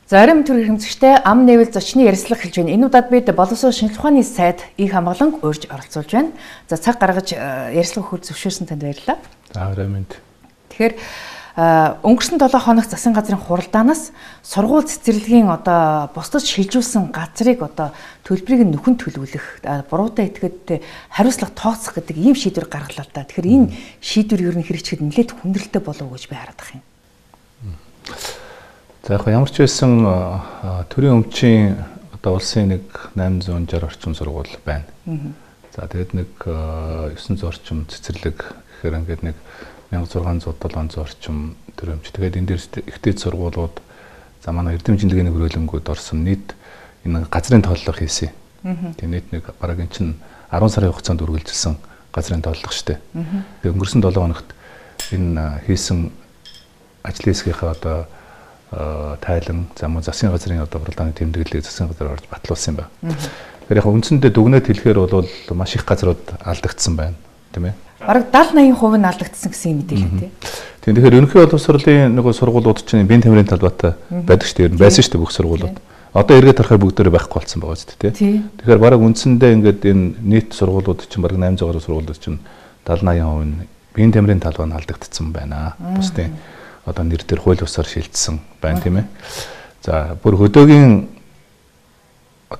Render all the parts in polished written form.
Зарим төр хэмжигчтэй ам нээвэл зочны ярилцлага хэлж байна. Энэ удаад бид боловсрол шинжилгээ ухааны сайд их хамгаалан урьж оролцуулж байна. За цаг гаргаж ярилцлага өгөх зөвшөөрсөн танд баярлалаа. За баярлалаа. Тэгэхээр өнгөрсөн 7 хоног засгийн газрын хуралдаанаас сургууль цэцэрлэгийн бусдад шилжүүлсэн газрыг төлбөрийг нөхөн төлөвлөх, буруутай этгээдтэй хариуцлага тооцох гэдэг ийм шийдвэр гаргалаа л да. Тэгэхээр энэ шийдвэр ер нь хэрэгжихэд нэлээд хүндрэлтэй болов уу гэж би хараад байна. За яг ямар ч байсан төрийн өмчийн улсын нэг 860 орчим сургууль байна. За тэгээд нэг 900 орчим цэцэрлэг гэхээр ингээд нэг 1600 700 орчим төрийн өмч. Тэгээд энэ дээр ихтэй сургуулиуд за манай эрдэмтдийн хөрөлөнгүүд орсон нийт энэ газрын тооллого хийсэн. Тэгээд нийт нэг бараг эн чинь 10 сарын хугацаанд үргэлжилсэн газрын тооллого шүү дээ. Тэгээд өнгөрсөн 7 хоногт энэ хийсэн ажлын хэсгийнхаа тайлан засгийн газрын хуралдааны тэмдэглэлийг засгийн газар орж батлуулсан юм байна. Тэгэхээр яг үндсэндээ дүгнэлт хэлэхээр бол маш их газрууд алдагдсан байна, тийм ээ. Бараг 70-80% нь алдагдсан гэсэн юм мэдээлэл тий. Тэгэхээр ерөнхий боловсролын нэг сургуулиуд чинь бие тамирын талбайтай байдаг шүү дээ. Байсан шүү дээ бүх сургуулиуд. Одоо эргээд харахаар бүгдээрээ байхгүй болсон байгаа шүү дээ, тий. Тэгэхээр бараг үндсэндээ ингээд энэ нийт сургуулиуд чинь бараг 800 гаруй сургуулиуд чинь 70-80% нь бие тамирын талбай нь алдагдсан байна. Бусдын нэр дээр хууль бусаар шилжсэн байна, тийм ээ. За бүр хөдөөгийн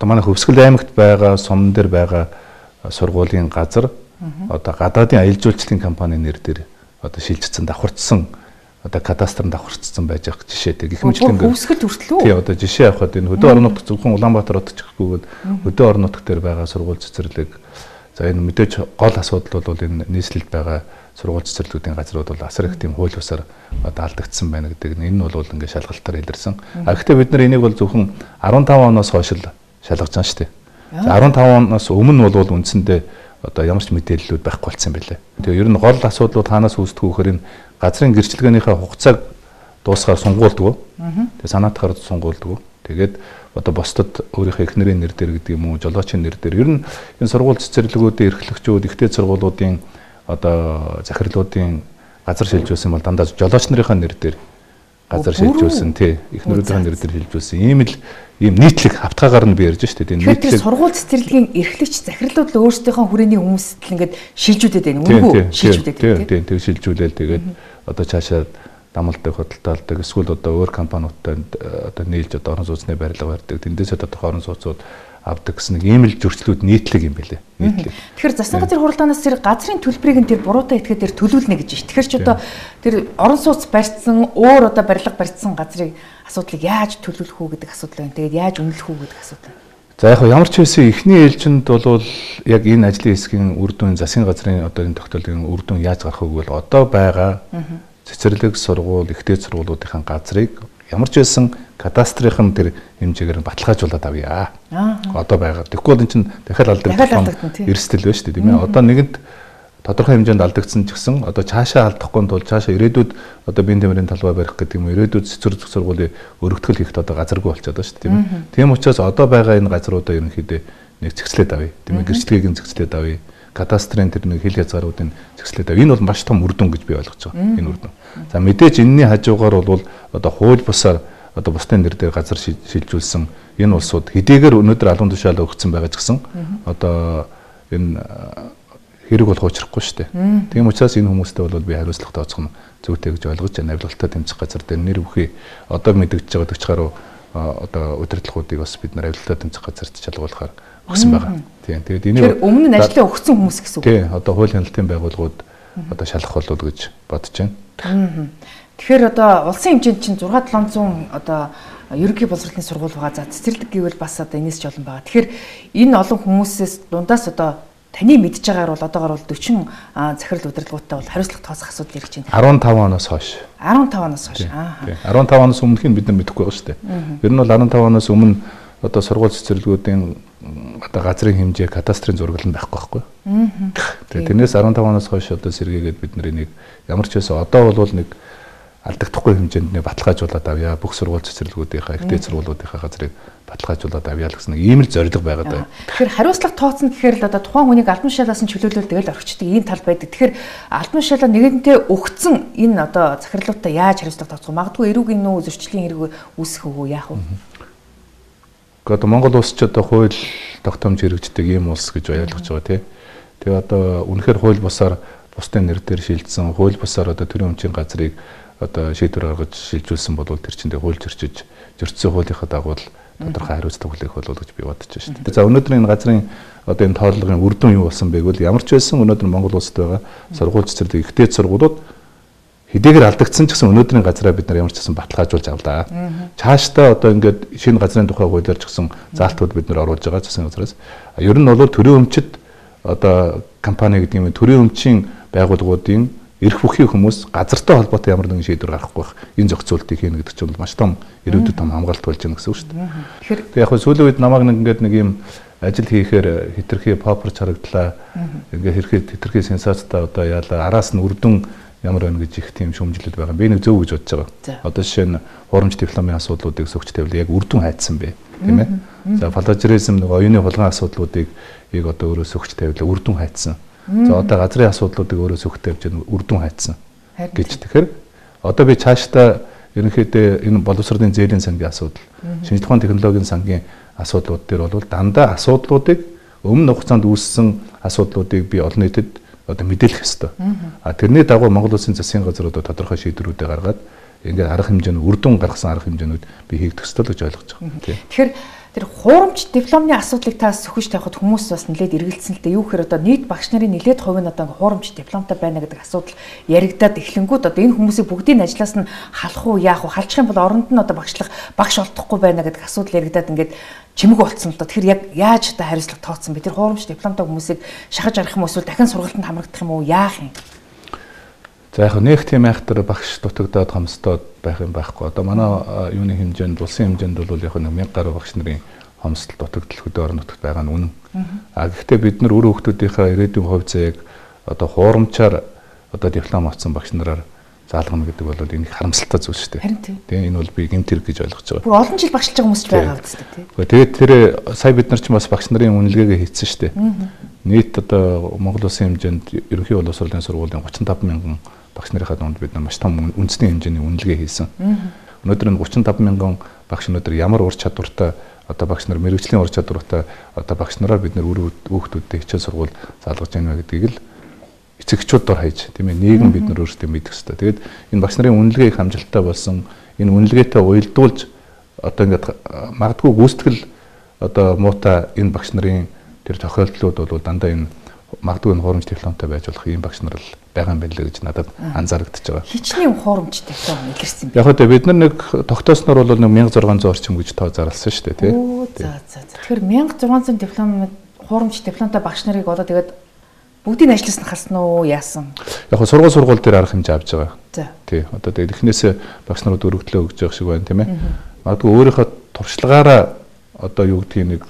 манай Хөвсгөл аймагт байгаа сумн дээр байгаа сургуулийн газар гадаадын аялал жуулчлалын компани нэр дээр шилжсэн давхарцсан кадастрын давхарцсан байж байгаа жишээтэй гэх мэтлэн Хөвсгөл хүртэл үү? Тий жишээ авахад энэ хөдөө орон нутг зөвхөн Улаанбаатар хотод гэхгүйгээд хөдөө орон нутг дээр байгаа сургууль цэцэрлэг за энэ мэдээж гол асуудал бол энэ нийслэлд байгаа сургууль цэцэрлэгүүдийн газрууд бол асар их тийм хууль бусаар алдагдсан байна гэдэг нь энэ бол ингээд шалгалтаар илэрсэн. Гэхдээ бид нар энийг бол зөвхөн 15 оноос хойш л шалгаж байгаа шүү дээ. 15 оноос өмнө бол үндсэндээ ямар ч мэдээллүүд байхгүй болсон юм билээ. Тэгээ ер нь гол асуудлууд хаанаас үүсдэг вэ гэхээр энэ газрын гэрчлэгээнийхээ хугацааг дуусгаар сунгуулдаг. Тэгээ санаатахаар сунгуулдаг. Тэгээд бусдад өөрийнхөө эхнэрийн нэр дээр гэдэг юм уу, жолоочийн нэр дээр ер нь энэ сургууль цэцэрлэгүүдийн эрхлэгчүүд, ихтэй сургуулиудын захирлуудын газар шилжүүлсэн бол дандаа жолооч нарын нэр дээр газар шилжүүлсэн тий эхнэрүүдийн нэр дээр шилжүүлсэн ийм нийтлэг хавтгаагаар нь би ярьж штэ тий нийтлэг сургууль цэцэрлэгийн эрхлэгч захирлууд л өөрсдийнхөө хүрээний хүмүүст л ингээд шилжүүлээд байна үгүй шилжүүлээд тий тэг шилжүүлээл тэгээд цаашаа дамалдаг хөдөлтөөлдөг эсвэл өөр компаниудтай нийлж орон сууцны барилга барьдаг тэндээсээ орон сууцууд авдаг гэсэн нэг ийм л зөрчлүүд нийтлэг юм байлээ. Нийтлэг. Тэгэхээр засгийн газрын хуралдаанаас тэр газрын төлбөрийг нь тэр буруутай этгээдээр төлүүлнэ гэж байна. Тэгэхээр ч тэр орон сууц барьсан өөр барилга барьсан газрыг асуудлыг яаж төлөвлөх үү гэдэг асуудал байна. Тэгээд яаж үнэлэх үү гэдэг асуудал. За яг ямар ч байсан эхний ээлжинд бол яг энэ ажлын хэсгийн үр дүн засгийн газрын энэ тогтоолын үр дүн яаж гарах вэ гэвэл одоо байгаа цэцэрлэг сургууль, ихтэй сургуулиудын газрыг ямар ч байсан кадастрын тэр хэмжээгээр баталгаажуулаад авъя. Одоо байгаа. Тэгэхгүй бол эн чинь дахиад алдагдсан эрсдэл байна шүү дээ, тийм ээ. Одоо нэгэнд тодорхой хэмжээнд алдагдсан ч гэсэн цаашаа алдахгүй тул цаашаа ирээдүйд бие тамирын талбай барих гэдэг юм ирээдүйд цэцэрлэг сургуулийн өргөтгөл хийхэд газаргүй болчиход байна шүү дээ, тийм ээ. Тийм учраас одоо байгаа энэ газруудаа ерөнхийдөө нэг зэгцлээд авъя, тийм ээ. Гэрчлэгийг нь зэгцлээд авъя. Кадастрын тэр нэг хил хязгааруудын зэгцлээд авъя. Энэ бол маш том үр дүн гэж би ойлгож байгаа. Энэ үр дүн. За мэдээж энэний хажуугаар бол хууль бусаар бусдын нэр дээр газар шилжүүлсэн энэ улсууд хэдийгээр өнөөдөр алуун тушаалаа өгсөн байгаа ч гэсэн энэ хэрэг болох учрахгүй шүү дээ. Тийм учраас энэ хүмүүстэй бол би хариуцлага тооцох нь зүйтэй гэж ойлгож байна. Авилгалтаа тэмцэх газар дээр нэр бүхий мэдэгдэж байгаа төгчгаруу удирдлагуудыг бас бид нар авилгалтаа тэмцэх газарт шалгуулахаар өгсөн байгаа. Тийм. Тэгээд энийг өмнө нь ажлаа өгсөн хүмүүс гэсэн үг. Тийм. Хуулийн хяналтын байгууллагууд шалгах болов уу гэж бодож байна. Тэгэхээр улсын хэмжээнд чинь 6-700 ерөнхий боловсролын сургууль байгаа. За цэцэрлэг гэвэл бас энэс ч олон байгаа. Тэгэхээр энэ олон хүмүүсээс дундаас таны мэдж байгаагаар бол одоогоор 40 захирал удирдлагуудтай бол хариуцлага тооцох асуудал ирж байна. 15 оноос хойш. 15 оноос хойш. 15 оноос өмнөх нь бид нар мэдэхгүй байгаа шүү дээ. Ер нь бол 15 оноос өмнө сургууль цэцэрлэгүүдийн газрын хэмжээ кадастрын зургал нь байхгүй. Тэгээд тэрнээс 15 оноос хойш сэргээгээд бид нар энийг ямар ч байсан одоо бол нэг алдагдахгүй хэмжээнд нэг баталгаажуулаад авъя. Бүх сургууль цэцэрлэгүүдийнхаа, ихтэй сургуулиудынхаа газрыг баталгаажуулаад авъя л гэсэн ийм л зорилго байгаад байна. Тэгэхээр хариуцлага тооцно гэхээр л одоо тухайн хүнийг албан тушаалаас нь чөлөөлөл тэгэл орчдөг ийм тал байдаг. Тэгэхээр албан тушаалаа нэгэнтээ өгцөн энэ одоо захирлуудаа яаж хариуцлага тооцох вэ? Магадгүй эрүүгийн нүү зөрчлийн хэрэг үүсэх үү яах вэ? Одоо Монгол улс ч одоо хууль тогтоомж хэрэгждэг ийм улс гэж ойлгож байгаа тий. Тэгээ одоо үнэхээр хууль бусаар бусдын нэр дээр шилжсэн, хууль бусаар одоо төрийн өмчийн газрыг одоо шийдвэр гаргаж шилжүүлсэн бол тэр чинь хууль зөрчиж зөрчсөн хуулийнхаа дагуу тодорхой хариуцлага хүлээх болов гэж би бодож байна шүү дээ. За өнөөдөр энэ газрын одоо энэ тооллогын үр дүн юу болсон бэ гэвэл ямар ч байсан өнөөдөр Монгол улсад байгаа сургууль цэцэрлэг ихтэй сургуулиуд хэдийгээр алдагдсан ч гэсэн өнөөдрийн газраа бид нар ямар ч гэсэн баталгаажуулж авлаа. Цаашдаа одоо ингээд шинэ газрын тухай хуулиар ч гэсэн заалтууд бид нар оруулж байгаа засгийн газраас. Ер нь бол төрийн өмчит одоо компани гэдэг юм төрийн өмчийн байгууллагуудын эрх бүхий хүмүүс газартай холбоотой ямар нэгэн шийдвэр гаргахгүй байх. Энэ зохицуултыг хийнэ гэдэг чинь маш том ирээдүйд том хамгаалалт болж байна гэсэн үг шүү дээ. Тэгэхээр яг хөө сүүлийн үед намайг ингээд нэг юм ажил хийхээр хитрхи попорч харагдлаа. Ингээд хитрхи сенсацтай одоо яалаа араас нь үрдэн ямар байна гэж их тийм шүүмжлэлүүд байгаа. Би нэг зөв гэж бодож байгаа. Одоо жишээ нь хуурамч дипломын асуудлуудыг сөгч тавил яг үрдэн хайцсан бэ. Тийм ээ. За плажеризм нэг оюуны хулгайн асуудлуудыг одоо өөрөө сөгч тавил үрдэн хайцсан. За одоо газрын асуудлуудыг өөрөө сөгч тавьж үрдэн хайцсан гэж. Тэгэхээр одоо би цаашдаа ерөнхийдөө энэ боловсролын зээлийн сангийн асуудал, шинжлэх ухааны технологийн сангийн асуудлууд дээр бол дандаа асуудлуудыг өмнө хугацаанд үүссэн асуудлуудыг би олон нийтэд одоо мэдээлэх ёстой. Тэрний дагуу Монгол Улсын засгийн газар одоо тодорхой шийдвэрүүдээ гаргаад ингээд арга хэмжээнд үрдэн гаргасан арга хэмжээнүүд би хийгдэх ёстой гэж ойлгож байгаа. Тэгэхээр тэр хуурамч дипломны асуудлыг та сөхөж тавихад хүмүүс бас нэлээд эргэлзсэн л дээ. Юу гэхээр одоо нийт багш нарын нэлээд хувь нь одоо хуурамч дипломтой байна гэдэг асуудал яригадаад эхлэнгүүд одоо энэ хүмүүсийг бүгдийг ажлаас нь халах уу яах вэ? Халчих юм бол оронд нь одоо багш олдохгүй байна гэдэг асуудал яригадаад ингээд чимэг болцсон л доо. Тэгэхээр яг яаж та хариуцлага тооцсон бэ? Тэр хуурамч дипломтой хүмүүсийг шахаж арах юм уу эсвэл дахин сургалтанд хамрагдах юм уу? Яах юм? За яг нэг тийм айхтар багш дутагдаад хомсдоод байх юм байхгүй. Одоо манай юуны хэмжээнд улсын хэмжээнд бол яг 1000 гаруй багш нарын хомсдол дутагдал хөдөө орон нутагт байгаа нь үнэн. Гэхдээ бид нар өөр хүүхдүүдийнхээ ирээдүйн хувь заяаг одоо хуурамчаар одоо диплом авсан багш нараар заалгана гэдэг бол энэ их харамсалтай зүйл шүү дээ. Тийм энэ бол би гэмт хэрэг гэж ойлгож байгаа. Бүр олон жил багшилж байгаа хүмүүс ч байгаа үстэй тийм. Тэгээд тэр сая бид нар ч бас багш нарын үнэлгээгээ хийсэн шүү дээ. Нийт одоо Монгол Улсын хэмжээнд ерөнхий боловсролын сургуулийн 35,000 багш нарынхаа дунд бид нар маш том үндэсний хэмжээний үнэлгээ хийсэн. Өнөөдөр энэ 35,000 багш өнөөдөр ямар ур чадвартай одоо багш нар мэрэгжлийн ур чадвартай одоо багш нараар бид нар өөр хүүхдүүдэд хичээл сургууль заалгаж байна гэдгийг л эцэгчүүд дор хаяж тийм ээ нийгэм бид нар өөрсдөө мэдэх хэрэгтэй. Тэгээд энэ багш нарын үнэлгээ их амжилттай болсон. Энэ үнэлгээтэй уялдуулж одоо ингээд магадгүй гүйцэтгэл одоо муутай энэ багш нарын тэр тохиолдлууд бол дандаа энэ магадгүй хуурамч дипломтой байж болох ийм багш нар л байгаа юм байна л гэж надад анзаарэгдэж байгаа. Хичнээн хуурамч диплом илэрсэн юм. Яг одоо бид нар нэг тогтоосноор бол 1600 орчим гэж тоо зарласан шүү дээ тий. За. Тэгэхээр 1600 диплом хуурамч дипломтой багш нарыг одоо тэгээд бүгдийг ажлаас нь халсан уу яасан? Яг сургууль дээр арга хэмжээ авч байгаа. Тий. Одоо тэгээд эхнээсээ багш нарууд өргөдлөө өгж байгаа шиг байна тийм ээ. Магадгүй өөрийнхөө туршлагаараа одоо юу гэдгийг нэг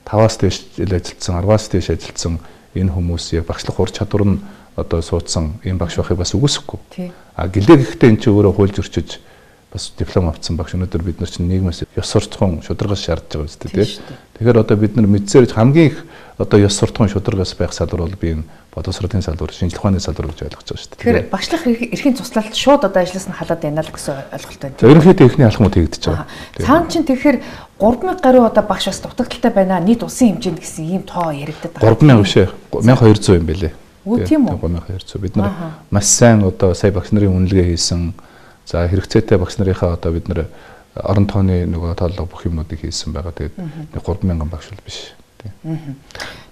5-аас дээш ажилтсан, 10-аас дээш ажилтсан энэ хүмүүс яг багшлах ур чадвар нь одоо суудсан ийм багш байхыг бас үгүйсэхгүй. Гэлээ гэхдээ эн чинь өөрөө хууль зөрчиж бас диплом авсан багш өнөөдөр бид нар чинь нийгмээс ёс суртахуун шударгаас шаардж байгаа үстэй тий. Тэгэхээр одоо бид нар мэдсээр хамгийн их одоо ёс суртахуун шударгаас байх салбар бол би энэ боловсролын салбар, шинжлэх ухааны салбар гэж ойлгож байгаа шүү дээ. Тэгэхээр багшлах эрхийн туслалт шууд одоо ажлаас нь халаад байна л гэсэн ойлголт байна. Ерөнхийдөө эхний алхмууд хийгдэж байгаа. Цаан чинь тэгэхээр 3000 гаруй одоо багш бас дутагдaltaй байна. Нийт улсын хэмжээнд гэсэн ийм тоо яригдаад байгаа. 3000 биш ээ. 1200 юм байлээ. Үгүй тийм үү? 3200. Бид нар маш сайн одоо сая багш нарын үнэлгээ хийсэн. За хэрэгцээтэй багш нарынхаа одоо бид нар орон тооны нөгөө тооллого бүх юмнуудыг хийсэн байгаа. Тэгээд 3000 багш бол биш.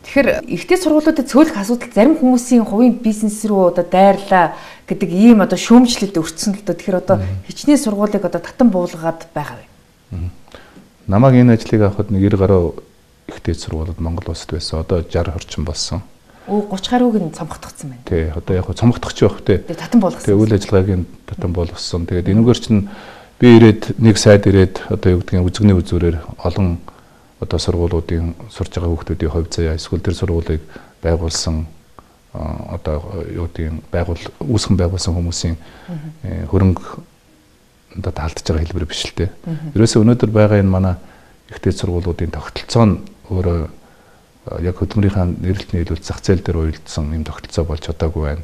Тэгэхээр ихтэй сургуулиудад цөөлөх асуудал зарим хүмүүсийн хувийн бизнес рүү одоо дайрлаа гэдэг ийм одоо шүүмжлэлд өртсөн л доо. Тэгэхээр одоо хичнээн сургуулийг одоо татан буулгаад байгаа вэ? Намайг энэ ажлыг авахд нэг 90 гаруй ихтэй сургуулиуд Монгол улсад байсан. Одоо 60 орчим болсон. 30 гаруйг нь цомгтгцсан байна. Тий, одоо яг цомгтгч байх тий. Татан болгосон. Тэгээ үйл ажиллагааг нь татан болгосон. Тэгээд энэгээр чинь би ирээд нэг сайд ирээд одоо юу гэдгийг үзэгний үзүүрээр олон одоо сургуулиудын сурж байгаа хүүхдүүдийн хувь заяа эсвэл тэр сургуулийг байгуулсан одоо юу гэдэг үүсгэн байгуулсан хүмүүсийн хөрөнгө одоо таалдж байгаа хэлбэр биш л дээ. Ерөөсөө өнөөдөр байгаа энэ манай ихтэй сургуулиудын тогтолцоо нь өөрөө яг хөдөлмөрийнхаа нэрэлт нийлүүлэлт зах зээл дээр уялдсан юм тогтолцоо болж чадаагүй байна.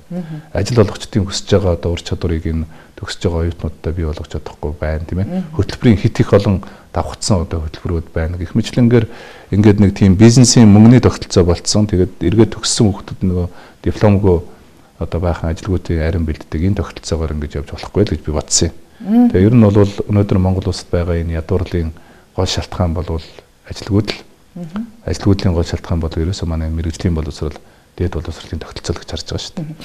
Ажил олгогчдын хүсэж байгаа одоо ур чадварыг энэ төгсөж байгаа оюутнуудтай бий болгож чадахгүй байна, тийм ээ. Хөтөлбөрийн хит их олон давхцсан одоо хөтөлбөрүүд байна. Гэх мэтлэнгээр ингээд нэг тийм бизнесийн мөнгөний тогтолцоо болцсон. Тэгээд эргээд төгссөн хүүхдүүд нөгөө дипломгүй одоо баахан ажилгүйдийн арин бэлддэг энэ тогтолцоогоор ингэж явж болохгүй л гэж би бодсон юм. Тэгээ ер нь бол өнөөдөр Монгол улсад байгаа энэ ядуурлын гол шалтгаан бол ажилгүйдэл. Ажилгүйдлийн гол шалтгаан бол ерөөсөө манай мэрэгжлийн боловсрол, дээд боловсролын тогтолцоо гэж харж байгаа шүү дээ.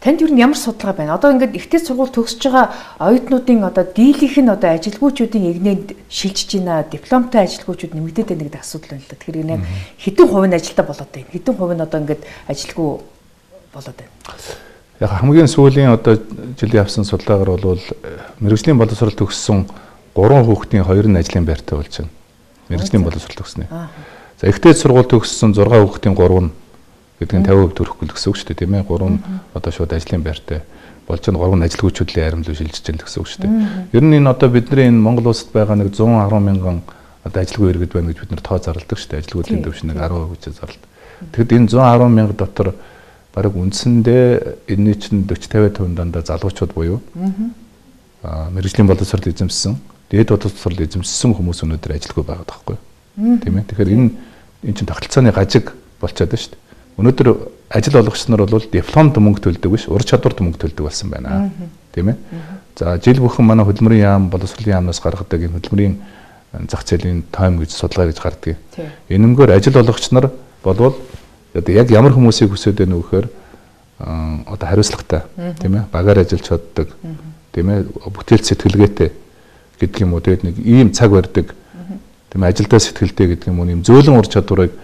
Танд ер нь ямар судалгаа байна? Одоо ингээд ихтэй сургууль төгсөж байгаа оюутнуудын одоо дийлийнх нь одоо ажилгүйчүүдийн игнэнд шилжиж байна, дипломтой ажилгүйчүүд нэмэгдээд байна гэдэг асуудал байна л да. Тэгэхээр энэ хэдэн хувь нь ажилтаа болоод байна? Хэдэн хувь нь одоо ингээд ажилгүй болоод байна? Яг хамгийн сүүлийн одоо жилийн авсан судалгаагаар бол мэрэгжлийн боловсрол төгссөн 3 хүүхдийн 2 нь ажлын байртай болж байна. Мэргэжлийн боловсрол төгснө. За ихтэй сургууль төгссөн 6 хүүхдийн 3 нь гэдэг нь 50% төрөхгүй гэсэн үг шүү дээ, тийм ээ. 3 нь одоо шууд ажлын байртай болж байгаа 3 нь ажилгүйчүүдийн аримлуу шилжиж байгаа гэсэн үг шүү дээ. Ер нь энэ одоо бидний энэ Монгол улсад байгаа нэг 110 мянган одоо ажилгүй иргэд байна гэж бид нэр тоо зарладаг шүү дээ. Ажилгүйдлийн төвшин нэг 10% зарладаг. Тэгэхэд энэ 110 мянга дотор бараг үндсэндээ энэний чинь 40-50% дандаа залуучууд буюу мэргэжлийн боловсрол эзэмссэн, дээд боловсрол эзэмссэн хүмүүс өнөөдөр ажилгүй байгаа байхгүй юу? Тийм ээ. Тэгэхээр энэ чинь тогтолцооны гажиг болчиход байна шүү дээ. Өнөөдөр ажил олгогч нар бол дипломд мөнгө төлдөг биш, ур чадварт мөнгө төлдөг болсон байна. Тийм ээ. За жил бүхэн манай хөдөлмөрийн яам, боловсролын яамнаас гаргадаг энэ хөдөлмөрийн зах зээлийн тойм гэж судалгаа гэж гардаг. Энэмгээр ажил олгогч нар болвол яг ямар хүмүүсийг хүсэж байна вэ гэхээр одоо хариуцлагатай, тийм ээ, багаар ажиллаж чаддаг, тийм ээ, бүтээл сэтгэлгээтэй гэдэг юм уу, тэгээд нэг ийм цаг барьдаг, тийм ээ, ажилдаа сэтгэлтэй гэдэг юм уу, ийм зөөлөн ур чадварыг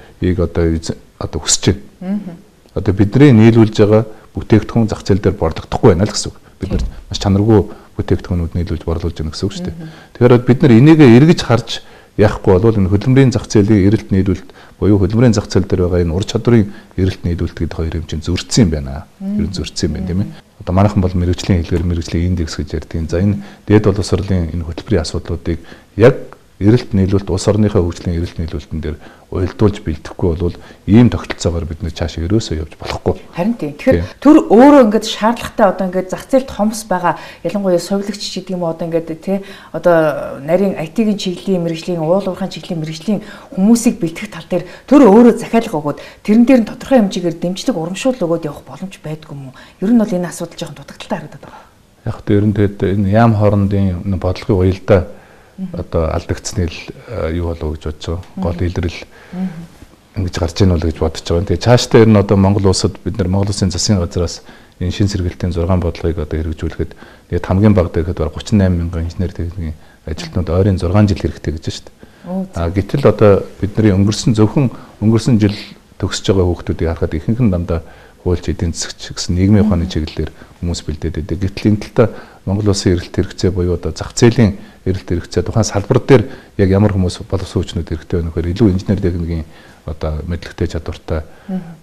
одоо хүсэж байна. Одоо бидний нийлүүлж байгаа бүтээгдэхүүн зах зээл дээр борлогдохгүй байна л гэсэн үг. Бид нар маш чанаргүй бүтээгдэхүүнүүд нийлүүлж борлуулж байна гэсэн үг шүү дээ. Тэгэхээр бид нар энийг эргэж харж яахгүй бол энэ хөдөлмөрийн зах зээлийн эрэлт нийлүүлэлт буюу хөдөлмөрийн зах зээл дээр байгаа энэ ур чадварын эрэлт нийлүүлэлт гэдэг хоёр юм чинь зөрчсөн юм байна. Ер нь зөрчсөн юм байна, тийм ээ. Одоо манайхан бол мэргэжлийн хэлгээр мэргэжлийн индекс гэж ярьдаг. За энэ дээд боловсролын энэ хөтөлбөрийн асуудлуудыг яг эрэлт нийлүүлэлт улс орныхоо хөгжлийн эрэлт нийлүүлэлтэн дээр уялдуулж бэлдэхгүй бол ийм тогтолцоогоор бид нэр цаашаа ерөөсөө явж болохгүй. Харин тийм. Тэгэхээр төр өөрөө ингээд шаардлагатай одоо ингээд зах зээлд хомс байгаа ялангуяа сувилагч гэдэг юм одоо ингээд тий одоо нарийн IT-ийн чиглэлийн мэргэжлийн уул уурхайн чиглэлийн мэргэжлийн хүмүүсийг бэлтгэх тал дээр төр өөрөө захиалга өгөөд тэрэн дээр нь тодорхой хэмжээгээр дэмжлэг урамшуул өгөөд явах боломж байдгүй юм уу? Ер нь бол энэ асуудал жоохон дутагдaltaй харагдаад байгаа. Яг нь ер нь тэгээд энэ яам хоорондын бодлогын уялдаа одоо алдагдсны юу болов гэж бодож байгаа. Гол илрэл ингэж гарч ийн бол гэж бодож байгаа. Тэгээ цаашдаа ер нь одоо Монгол улсад бид нар Монгол Улсын засгийн газраас энэ шин сэргэлтийн 6 бодлогыг одоо хэрэгжүүлэхэд тэгээд хамгийн бага дэхэд бараг 38 мянган инженер техникийн ажилтнууд ойрын 6 жил хэрэгтэй гэж байна шүү дээ. Гэтэл одоо бидний өнгөрсөн жил төгсөж байгаа хүүхдүүдийг харахад ихэнх нь дандаа хуульч эдийн засагч гэсэн нийгмийн ухааны чиглэлээр хүмүүс бэлдээд байдаг. Гэтэл энэ талаа Монгол Улсын эрэлт хэрэгцээ буюу одоо зах зээлийн эрэлт хэрэгцээ тухайн салбар дээр яг ямар хүмүүс боловсруучнууд хэрэгтэй байна гэхээр илүү инженер техникийн одоо мэдлэгтэй чадвартай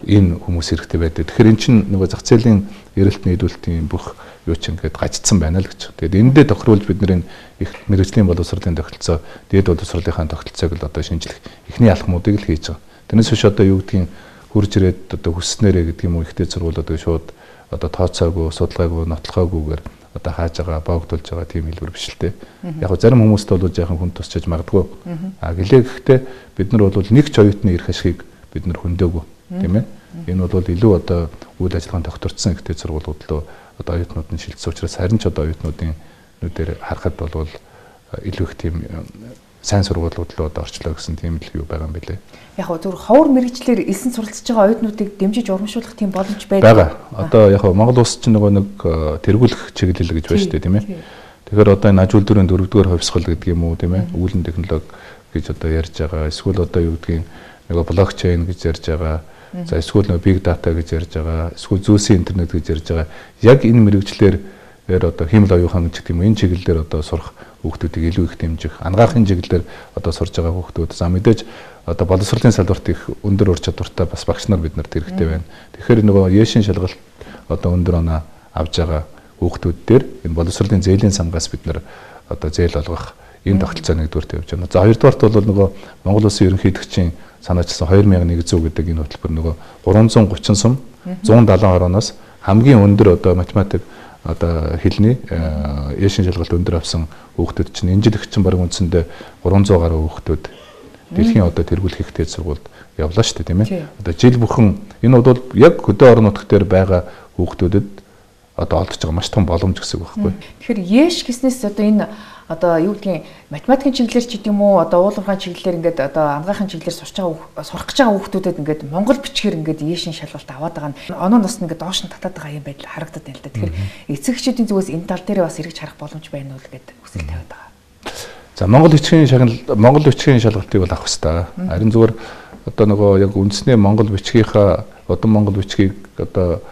энэ хүмүүс хэрэгтэй байдаг. Тэгэхээр эн чинь нөгөө зах зээлийн эрэлт нийлүүлэлтийн бүх юу ч ингээд гажцсан байна л гэж. Тэгээд эндээ тохируулж бид нэр их мэргэжлийн боловсролын тогтолцоо, дээд боловсролынхаа тогтолцоог л одоо шинжлэх эхний алхмуудыг л хийж байгаа. Тэрнээс биш одоо юу гэдгийг хурж ирээд одоо хүснээрээ гэдэг юм уу ихтэй сургуулиуд шууд одоо тооцоогүй, судалгаагүй, нотлохоогүйгээр одоо хааж байгаа, боогдуулж байгаа тийм хэлбэр биш л дээ. Яг зарим хүмүүст бол жаахан хүн тусчиж магадгүй. Гэлээ гэхдээ бид нар бол нэг ч оюутны эрх ашигыг бид нар хөндөөгүй, тийм ээ. Энэ бол илүү одоо үйл ажиллагаанд тогтворцсон ихтэй сургуулиуд руу одоо оюутнууд нь шилжсэн учраас харин ч одоо оюутнуудын нүдээр харахад бол илүү их тийм сайн сургуулиуд руу одоо орчлоо гэсэн тийм л юу байгаа юм билээ. Яг зөв ховор мэрэгчлэр элсэн суралцж байгаа оюутнуудыг дэмжиж урамшуулах тийм боломж байдаг. Одоо яг Монгол улс чинь нөгөө нэг тэргүүлэх чиглэл гэж байна шүү дээ, тийм ээ. Тэгэхээр одоо энэ аж үйлдвэрийн 4-р хувьсгал гэдэг юм уу, тийм ээ. Үүлэн технологи гэж одоо ярьж байгаа. Эсвэл одоо юу гэдгийг нөгөө блокчейн гэж ярьж байгаа. За эсвэл нөгөө big data гэж ярьж байгаа. Эсвэл зөөсийн интернет гэж ярьж байгаа. Яг энэ мэрэгчлэр одоо хиймэл оюухан гэдэг юм энэ чиглэлээр одоо сурах хүүхдүүдийг илүү их дэмжих, анагаахын чиглэлээр одоо сурж байгаа хүүхдүүд за мэдээж одоо боловсролын салбарт их өндөр ур чадвартай бас багш нар бид нарт хэрэгтэй байна. Тэгэхээр нөгөө Ешийн шалгалт одоо өндөр оноо авж байгаа хүүхдүүд дээр энэ боловсролын зээлийн сангаас бид нар одоо зээл олгох энэ тогтолцоо нэгдүгээр тавьж байна. За хоёрдугаарт бол нөгөө Монгол Улсын ерөнхийлөгчийн санаачсан 2100 гэдэг энэ хөтөлбөр нөгөө 330 сум 170 орооноос хамгийн өндөр одоо математик одоо хэлний Ешийн шалгалт өндөр авсан хүүхдүүд чинь энэ жил их чинь бараг үндсэндээ 300 гаруй хүүхдүүд дэлхийн одоо тэргүүлэх их дээд сургуульд явлаа шүү дээ тийм ээ. Одоо жил бүхэн энэ бол яг хөдөө орон нутгт дээр байгаа хүүхдүүдэд одоо олдож байгаа маш том боломж гэсэн үг байхгүй. Тэгэхээр Еш гэснээс одоо энэ одоо юу гэдгийг математикийн чиглэлээр ч гэдэг юм уу одоо уулуурхайн чиглэлээр ингээд одоо ангаахын чиглэлээр сурах гэж байгаа хүүхдүүдэд ингээд монгол бичгээр ингээд Ешийн шалгалт аваад байгаа нь оноо нас ингээд доош нь татаад байгаа юм байдал харагдаад байна л да. Тэгэхээр эцэгчүүдийн зүгээс энэ тал дээр бас эргэж харах боломж байна уу гэдэг хүсэл тавиад байгаа. За Монгол бичгийн шалгалтыг бол авах хэрэгтэй. Харин зүгээр одоо нөгөө яг үндэсний Монгол бичгийнхаа одон Монгол бичгийг одоо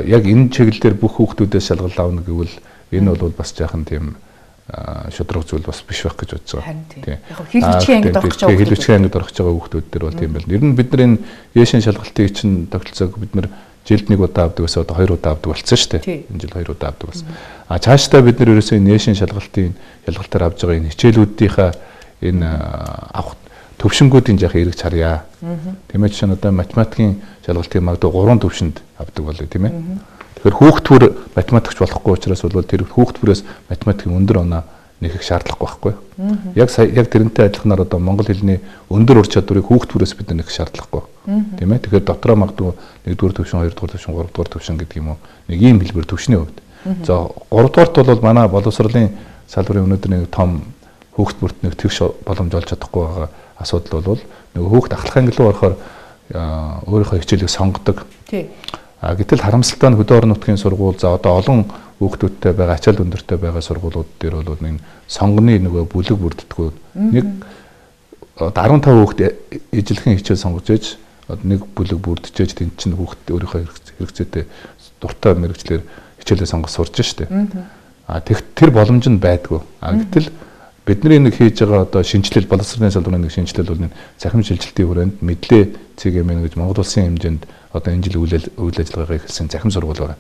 яг энэ чиглэлээр бүх хүүхдүүдээс шалгалт авна гэвэл энэ бол бас жаахан тийм шудраг зүйл бас биш байх гэж бодож байгаа. Тийм. Яг хэл бичгийн ангид орох байгаа хүүхдүүд дээр бол тийм байл. Ер нь бид нар энэ Ешийн шалгалтыг чинь тогтолцоог бид нар жилд нэг удаа авдаг гэсэн одоо 2 удаа авдаг болсон шүү дээ. Энэ жил 2 удаа авдаг болсон. Цаашдаа бид нар ерөөсөө энэ Ешийн шалгалтаар авж байгаа энэ хичээлүүдийнхаа энэ авах төвшингүүдийн жаахан эргэж харъя. Тийм ээ чинь одоо математикийн шалгалтыг магадгүй 3 төвшөнд авдаг болоо тийм ээ. Тэгэхээр хүүхдтүр математикч болохгүй учраас бол тэр хүүхдтүрээс математикийн өндөр оноо нэг их шаардлагагүй байхгүй. Яг тэрнтэй адилханаар одоо монгол хэлний өндөр ур чадварыг хүүхдтүрээс бид нэг шаардлагагүй. Тийм ээ. Тэгэхээр дотроо магадгүй 1-р төвшин, 2-р төвшин, 3-р төвшин гэдэг юм уу. Нэг ийм хэлбэр төвшний хувьд. За 3-дугаарт бол манай боловсролын салбарын өнөөдөр нэг том хүүхд бүрт нэг тэгш боломж олж чадахгүй байгаа асуудал бол нөгөө хүүхд ахлах анги руу орохоор өөрийнхөө хичээлийг сонгодог. Тий. Гэтэл харамсалтай нь хөдөө орон нутгийн сургууль за одоо олон хүүхдүүдтэй байгаа ачаал өндөртэй байгаа сургуулиуд дээр бол нэг сонгоны нөгөө бүлэг бүрддэггүй. Нэг 15 хүүхд ижилхэн хичээл сонгож ээж нэг бүлэг бүрдчихэж тэнд чинь хүүхд өөрийнхөө хэрэгцээтэй дуртай мэрэгчлэр хичээлээ сонгож сурж штэ. Тэр боломж нь байдгүй. Гэтэл бидний нэг хийж байгаа одоо шинжилэл боловсролын салбарын нэг шинжилэл бол цахим шилжилтийн хүрээнд мэдлээ CGM гэж Монгол Улсын хэмжээнд одоо энэ жил үйл ажиллагаагаа эхэлсэн захим сургууль байна.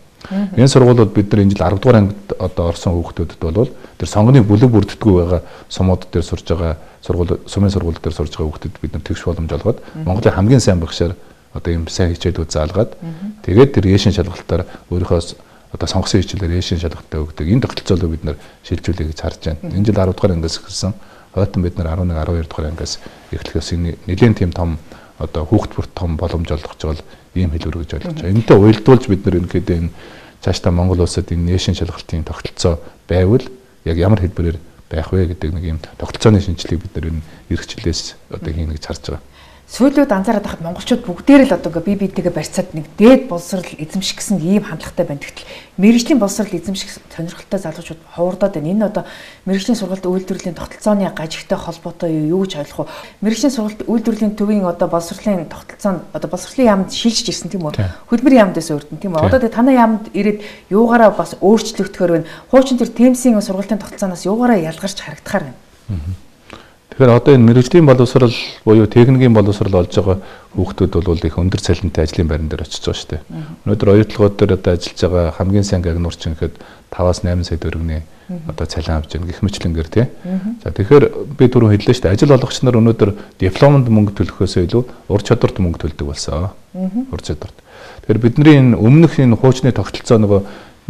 Энэ сургуулиуд бид нар энэ жил 10 дугаар ангид одоо орсон хүүхдүүдэд бол тэр сонгоны бүлэг бүрддэггүй байгаа сумууд дээр сурж байгаа сумын сургууль дээр сурж байгаа хүүхдэд бид нар тэгш боломж олгоод Монголын хамгийн сайн багшаар одоо ийм сайн хичээлүүд заалгаад тэгээд тэр Ешийн шалгалтаар өөрийнхөө одоо сонгосон хичээлээр Ешийн шалгалтаа өгдөг. Энэ тогтолцоолоо бид нар шилжүүлэе гэж харж байна. Энэ жил 10 дугаар ангиас эхэлсэн. Хойтон бид нар 11 12 дугаар ангиас эхлэхээс нэлээд тийм том одоо хүүхд бүрт том боломж олгож байгаа ийм хэлбэр гэж ойлгож байгаа. Энэтэй уялдуулж бид нар ерөнхийдөө энэ цаашдаа Монгол улсад энэ Ешийн шалгалтын тогтолцоо байвал яг ямар хэлбэрээр байх вэ гэдэг нэг ийм тогтолцооны шинжилгээг бид нар энэ эрхчлээс одоо хийнэ гэж харж байгаа. Сүүлүүд анзаараад байхад монголчууд бүгдээр л одоо бие биетэйгээ барьцаад нэг дээд боловсрал эзэмших гэсэн ийм хандлагатай байна. Гэтэл мэрэгжлийн боловсрал эзэмших сонирхолтой залуучууд ховордоод байна. Энэ одоо мэрэгжлийн сургалт үйлдвэрлэлийн тогтолцооны гажигтай холбоотой юу гэж ойлгох вэ? Мэрэгжлийн сургалт үйлдвэрлэлийн төвийн одоо боловсролын тогтолцоо одоо боловсролын яамд шилжиж ирсэн тийм үү? Хөдөлмөрийн яамдаас өөртөн тийм үү? Одоо тэгээ танай яамд ирээд юугаараа бас өөрчлөгдөхөр байна. Хуучин тэр темсийн сургалтын тогтолцооноос юугаараа ялгарч харагдахаар байна. Тэгэхээр одоо энэ мэрэгжлийн боловсрал буюу техникийн боловсрал олж байгаа хүүхдүүд бол их өндөр цалинтай ажлын байран дээр очиж байгаа шүү дээ. Өнөөдөр оюутлогууд дээр одоо ажиллаж байгаа хамгийн сайн гагнуурч гэхэд 5-8 сая төгрөгийн одоо цалин авч байгаа гэх мэтлэнгээр тий. За тэгэхээр би түрүү хэллээ шүү дээ. Ажил олгогч нар өнөөдөр дипломд мөнгө төлөхөөсөө илүү ур чадварт мөнгө төлдөг болсон. Ур чадварт. Тэгэхээр бидний энэ өмнөх энэ хуучны тогтолцоо нөгөө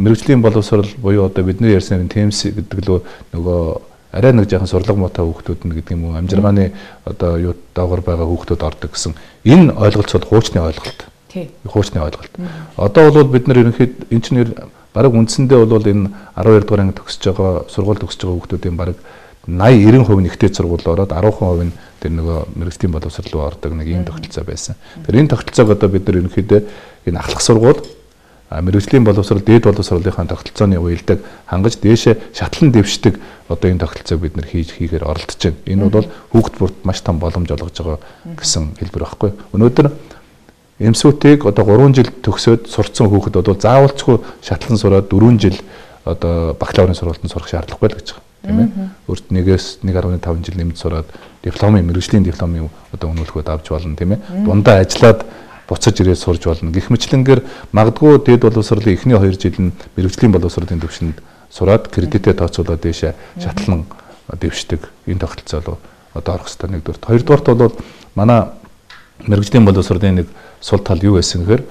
мэрэгжлийн боловсрал буюу одоо бидний ярьсан TMS гэдэг л нөгөө арай нэг жоохон сурлага муутай хүүхдүүд нь гэдэг юм уу амжиргааны одоо юу доогор байгаа хүүхдүүд ордог гэсэн энэ ойлголт бол хуучны ойлголт. Тий. Хуучны ойлголт. Одоо бол бид нар ерөнхийд энэ чинь бараг үндсэндээ бол энэ 12 дугаар анги төгсөж байгаа сургууль төгсөж байгаа хүүхдүүдийн бараг 80-90% нэгтэй сургууль ороод 10% нь тэр нөгөө мэрэгжлийн боловсрол руу ордог нэг ийм тогтолцоо байсан. Тэр энэ тогтолцоог одоо бид нар ерөнхийдөө энэ ахлах сургууль мэрэгжлийн боловсрол дээд боловсролынхаа тогтолцооны уялдаг хангаж дээшээ шатлан дэвшдэг одоо энэ тогтолцоог бид нар хийхээр оролдож байна. Энэ бол хүүхд бүрт маш том боломж олгож байгаа гэсэн хэлбэр байхгүй. Өнөөдөр эмсүүтийг одоо 3 жил төгсөөд сурцсан хүүхэд бол заавалчгүй шатлан сураад 4 жил одоо бакалаврын сургуультанд сурах шаардлагагүй л гэж байгаа. тийм ээ. Өөрт нэгээс 1.5 жил нэмж сураад дипломын мэргэжлийн дипломын одоо үнэлгүүд авч болно тийм ээ. Дундаа ажиллаад буцаж ирээд сурж болно. Гэх мэтлэнгээр магадгүй дээд боловсролын эхний 2 жил нь мэргэжлийн боловсролын төвшөнд сураад кредитээ тооцоолоод дэше шатлан дэвшдэг энэ тогтолцоо одоо орох хэрэгтэй нэгдүгээр. Хоёрдугаарт бол манай мэргэжлийн боловсролын нэг сул тал юу байсан гэхээр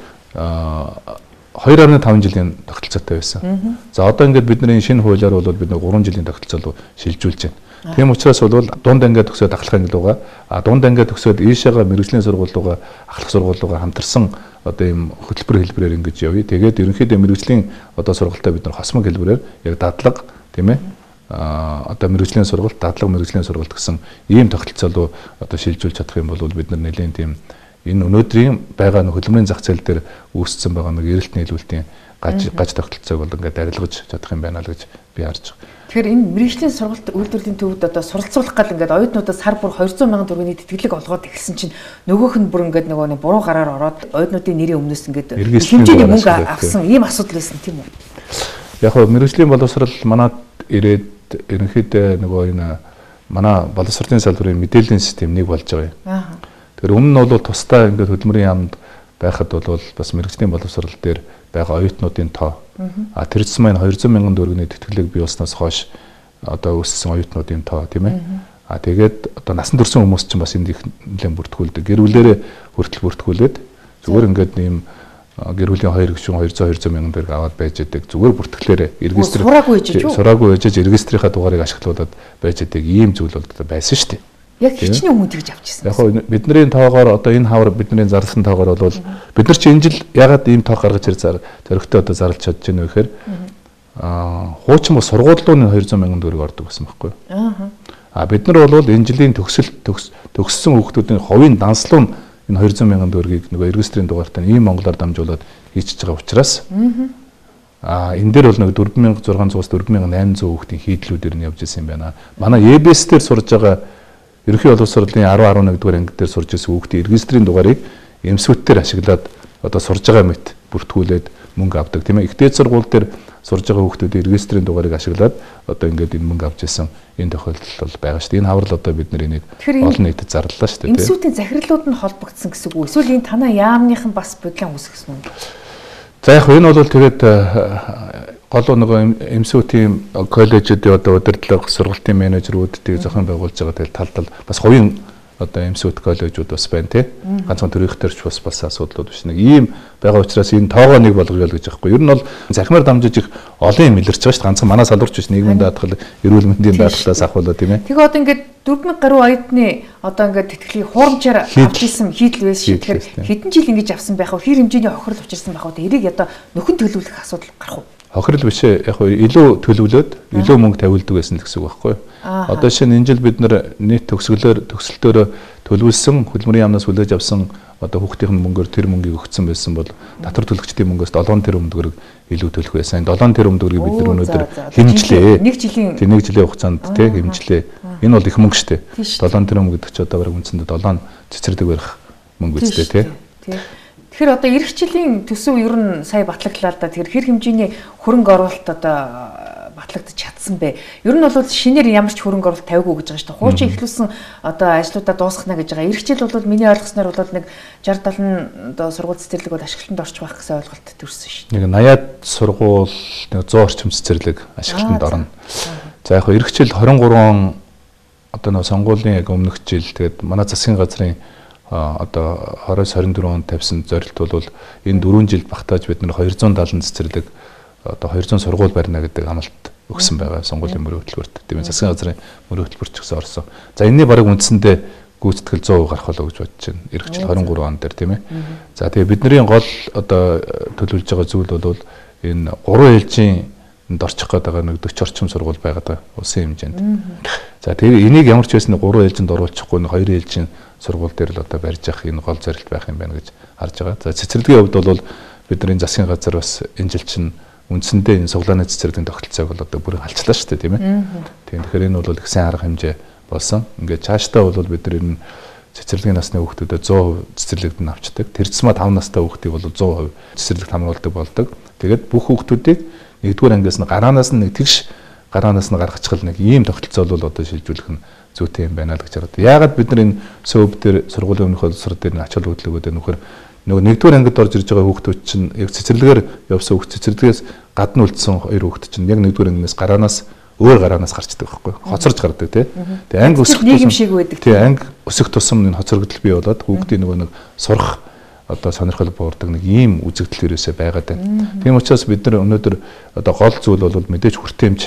2.5 жилийн тогтолцоотой байсан. За одоо ингээд бидний шинэ хуулиар бол бид 3 жилийн тогтолцоо руу шилжүүлж байна. Тийм учраас бол дунд ангиа төгсөөд ахлах ангилууга дунд ангиа төгсөөд ийшээгээ мэргэжлийн сургуулиугаа ахлах сургуулиугаа хамтарсан одоо ийм хөтөлбөр хэлбэрээр ингэж явъя. Тэгээд ерөнхийдөө мэргэжлийн одоо сургалтаа бид нар хосмог хэлбэрээр яг дадлага тийм ээ одоо мэргэжлийн сургалт дадлага мэргэжлийн сургалт гэсэн ийм тогтолцоо руу одоо шилжүүлж чадах юм бол бид нар нэлээд тийм энэ өнөөдрийн байгаа хөдөлмөрийн зах зээл дээр үүссэн байгаа нэг эрэлт нийлүүлэлтийн гаж тогтолцоог бол ингээд арилгаж чадах юм байна л гэж би харж байгаа. Тэгэхээр энэ мэргэжлийн сургалт үйлдвэрлэлийн төвд одоо суралцуулах гал ингээд оюутнуудаас сар бүр 200 мянган төгрөгийн тэтгэлэг олгоод ирсэн чинь нөгөөх нь бүр ингээд нөгөө буруу гараар ороод оюутнуудын нэрийн өмнөөс ингээд хэмжээний мөнгө авсан ийм асуудал байсан тийм үү? Яг нь мэргэжлийн боловсрол манад ирээд ерөнхийдөө нөгөө энэ манай боловсролын салбарын мэдээллийн систем нэг болж байгаа юм. Тэгэхээр өмнө нь бол тусдаа ингээд хөдөлмөрийн яамд байхад бол бас мэргэжлийн боловсрол дээр байгаа оюутнуудын тоо тэр зэс маань 200 мянган төгрөгийн тэтгэлэг бий болсноос хойш одоо өссөн оюутнуудын тоо тийм ээ. Тэгээд одоо насан турш хүмүүс чинь бас энд их нэлээд бүртгүүлдэг. Гэр бүлээрээ хүртэл бүртгүүлээд зүгээр ингээд ийм гэр бүлийн 2 гишүүн 200 мянган төгрөг аваад байж байдаг. Зүгээр бүртгэлээрээ сураагүй ээжж регистрийнхаа дугаарыг ашиглуулад байж байдаг ийм зүйл бол байсан шүү дээ. Яг хичнээн хүн тэгж авчихсан. Яг нь бидний тоогоор одоо энэ хавар бидний зарласан тоогоор бол бид нар чи энэ жил ягаад ийм тоог гаргаж ир зоригтой одоо зарлж чадж байна вэ гэхээр хуучин бас сургуулийн 200 мянган төгрөг ордог гэсэн байхгүй юу? Бид нар бол энэ жилийн төгссөн хүүхдүүдийн хувийн данслуу энэ 200 мянган төгрөгийг нөгөө регистрийн дугаартай ийм монголоор дамжуулаад хийчихэж байгаа учраас энэ дээр бол нэг 4600-аас 4800 хүүхдийн хийдлүүдээр нь явж ирсэн юм байна. Манай ЕБС дээр сурж байгаа ерөнхий боловсролын 10-11 дугаар анги дээр сурж ирсэн хүүхдийн регистрийн дугаарыг эмсвэтээр ашиглаад одоо сурж байгаа мэт бүртгүүлээд мөнгө авдаг тийм ээ. Их дээд сургууль дээр сурж байгаа хүүхдүүдийн регистрийн дугаарыг ашиглаад одоо ингээд энэ мөнгө авч ирсэн энэ тохиолдол бол байгаа шүү дээ. Энэ хаврал одоо бид нар энийг олон нийтэд зарлалаа шүү дээ. Эмсвэтийн захирлууд нь холбогдсон гэсэн үг үү? Эсвэл энэ танаа яамныхан бас бодлон үүсгэсэн үү? За яг энэ бол тэгээд гол нөгөө эмсвэтийн коллежуудын одоо удирдлага сургалтын менежерүүдийг зохион байгуулж байгаа талд бас хувийн одоо эмсвэт коллежууд бас байна тий. Ганцхан төрийнхтэрч бас асуудлууд биш нэг ийм байгаа учраас энэ тоогоо нэг болгоё л гэж аахгүй. Ер нь бол захимаар дамжиж их олон юм илэрч байгаа шүү дээ. Ганцхан манай салбарч биш нийгмийн даатгал, эрүүл мэндийн даатгалаас ахвалаа тийм ээ. Тэгээ одоо ингээд 4000 гаруй оюутны одоо ингээд тэтгэлгийг хуурамчаар авч исэн хийдэл байсан шүү. Тэгэхээр хэдэн жил ингэж авсан байх вэ? Хэр хэмжээний хохирол учирсан байх вэ? Эрийг одоо нөхөн төлөвлөх асуудал гарах уу? Хохирол биш ээ. Яг илүү төлөвлөөд илүү мөнгө тавилдаг байсан л гэсэн үг байхгүй юу? Одоо шинэ энэ жил бид нар нийт төгсгөлөөр төлөвлөсөн хөдөлмөрийн яамнаас хүлээж авсан одоо хүүхдийн мөнгөөр тэр мөнгийг өгсөн байсан бол татвар төлөгчдийн мөнгөөс 7 тэрбум төгрөг илүү төлөх байсан. 7 тэрбум төгрөгийг бид нар өнөөдөр хэмжлээ. Нэг жилийн хугацаанд тий хэмжлээ. Энэ бол их мөнгө шүү дээ. 7 тэрбум гэдэг чинь одоо бараг үндсэндээ 7 цэцэрлэг барих мөнгө үстэй тий. Тэгэхээр одоо эх жилийн төсөв ер нь сая батлагдлаа л да. Тэгэхээр хэр хэмжээний хөрөнгө оруулалт одоо батлагдаж чадсан бэ? Ер нь бол шинээр ямар ч хөрөнгө оруулалт тавиагүй гэж байгаа шүү дээ. Хуучин эхлүүлсэн одоо ажлуудаа дуусгана гэж байгаа. Эх жил бол миний ойлгосноор бол нэг 60-70 одоо сургууль цэцэрлэг бол ашиглалтанд орчих байх гэсэн ойлголт төрсэн шүү дээ. Нэг 80-аад сургууль нэг 100 орчим цэцэрлэг ашиглалтанд орно. За яг эх жил 23 одоо нэг сонгуулийн яг өмнөх жил тэгээд манай засгийн газрын одоо 20-24 онд тавьсан зорилт бол энэ 4 жилд багтааж бид нар 270 цэцэрлэг одоо 200 сургууль барина гэдэг амлалт өгсөн байгаа сонгуулийн мөрийн хөтөлбөрт. Тийм засгийн газрын мөрийн хөтөлбөрч гэсэн орсон. За энэний бараг үндсэндээ гүйцэтгэл 100% гарах болоо гэж бодож байна. Эх жил 23 он дээр тийм ээ. За тэгээ бидний гол одоо төлөвлөж байгаа зүйл бол энэ 3 ээлжийн орчих гээд байгаа нэг 40 орчим сургууль байгаад байгаа улсын хэмжээнд. За тэгээ энийг ямар ч байсан 3 ээлжинд оруулчихгүй 2 ээлжийн сургууль дээр л одоо барьж явах энэ гол зорилт байх юм байна гэж харж байгаа. За цэцэрлэгийн хувьд бол бидний засгийн газар бас энэ жил чинь үндсэндээ энэ суглааны цэцэрлэгийн тогтолцоог бол одоо бүрэн алчлаа шүү дээ тийм ээ. Тэгэхээр энэ бол их сайн арга хэмжээ болсон. Ингээд цаашдаа бол бид нар энэ цэцэрлэгийн насны хүүхдүүдэд 100% цэцэрлэгт нь авчдаг. Тэр зэсмэ 5 настай хүүхдийг бол 100% цэцэрлэгт хамруулдаг болдог. Тэгээд бүх хүүхдүүдийг 1-р ангиас нь гараанаас нь нэг тэгш гараанаас нь гаргачихл нэг ийм тогтолцоо бол одоо шилжүүлэх нь зүйтэй юм байна л гэж хараад. Яагаад бид нар энэ СУБ дээр сургуулийн өмнөх улсрал дээр ач холбогдлогууд нөхөр нөгөө нэгдүгээр ангид орж ирж байгаа хүүхдүүд чинь яг цэцэрлэгээр явсан хүүхд цэцэрлэгээс гадна үлдсэн хоёр хүүхд чинь яг нэгдүгээр ангиас гараанаас өөр гараанаас гарчдаг байхгүй хоцорж гардаг тий. Тэгээ анги өсөх нийгэм шиг байдаг. Тий анги өсөх тусам энэ хоцрогдол бий болоод хүүхдийн нөгөө нэг сурах одоо сонирхол буурдаг нэг ийм үзэгдэл ерөөсөө байгаад байна. Тийм учраас бид нар өнөөдөр одоо гол зүйл бол мэдээж хүртээмж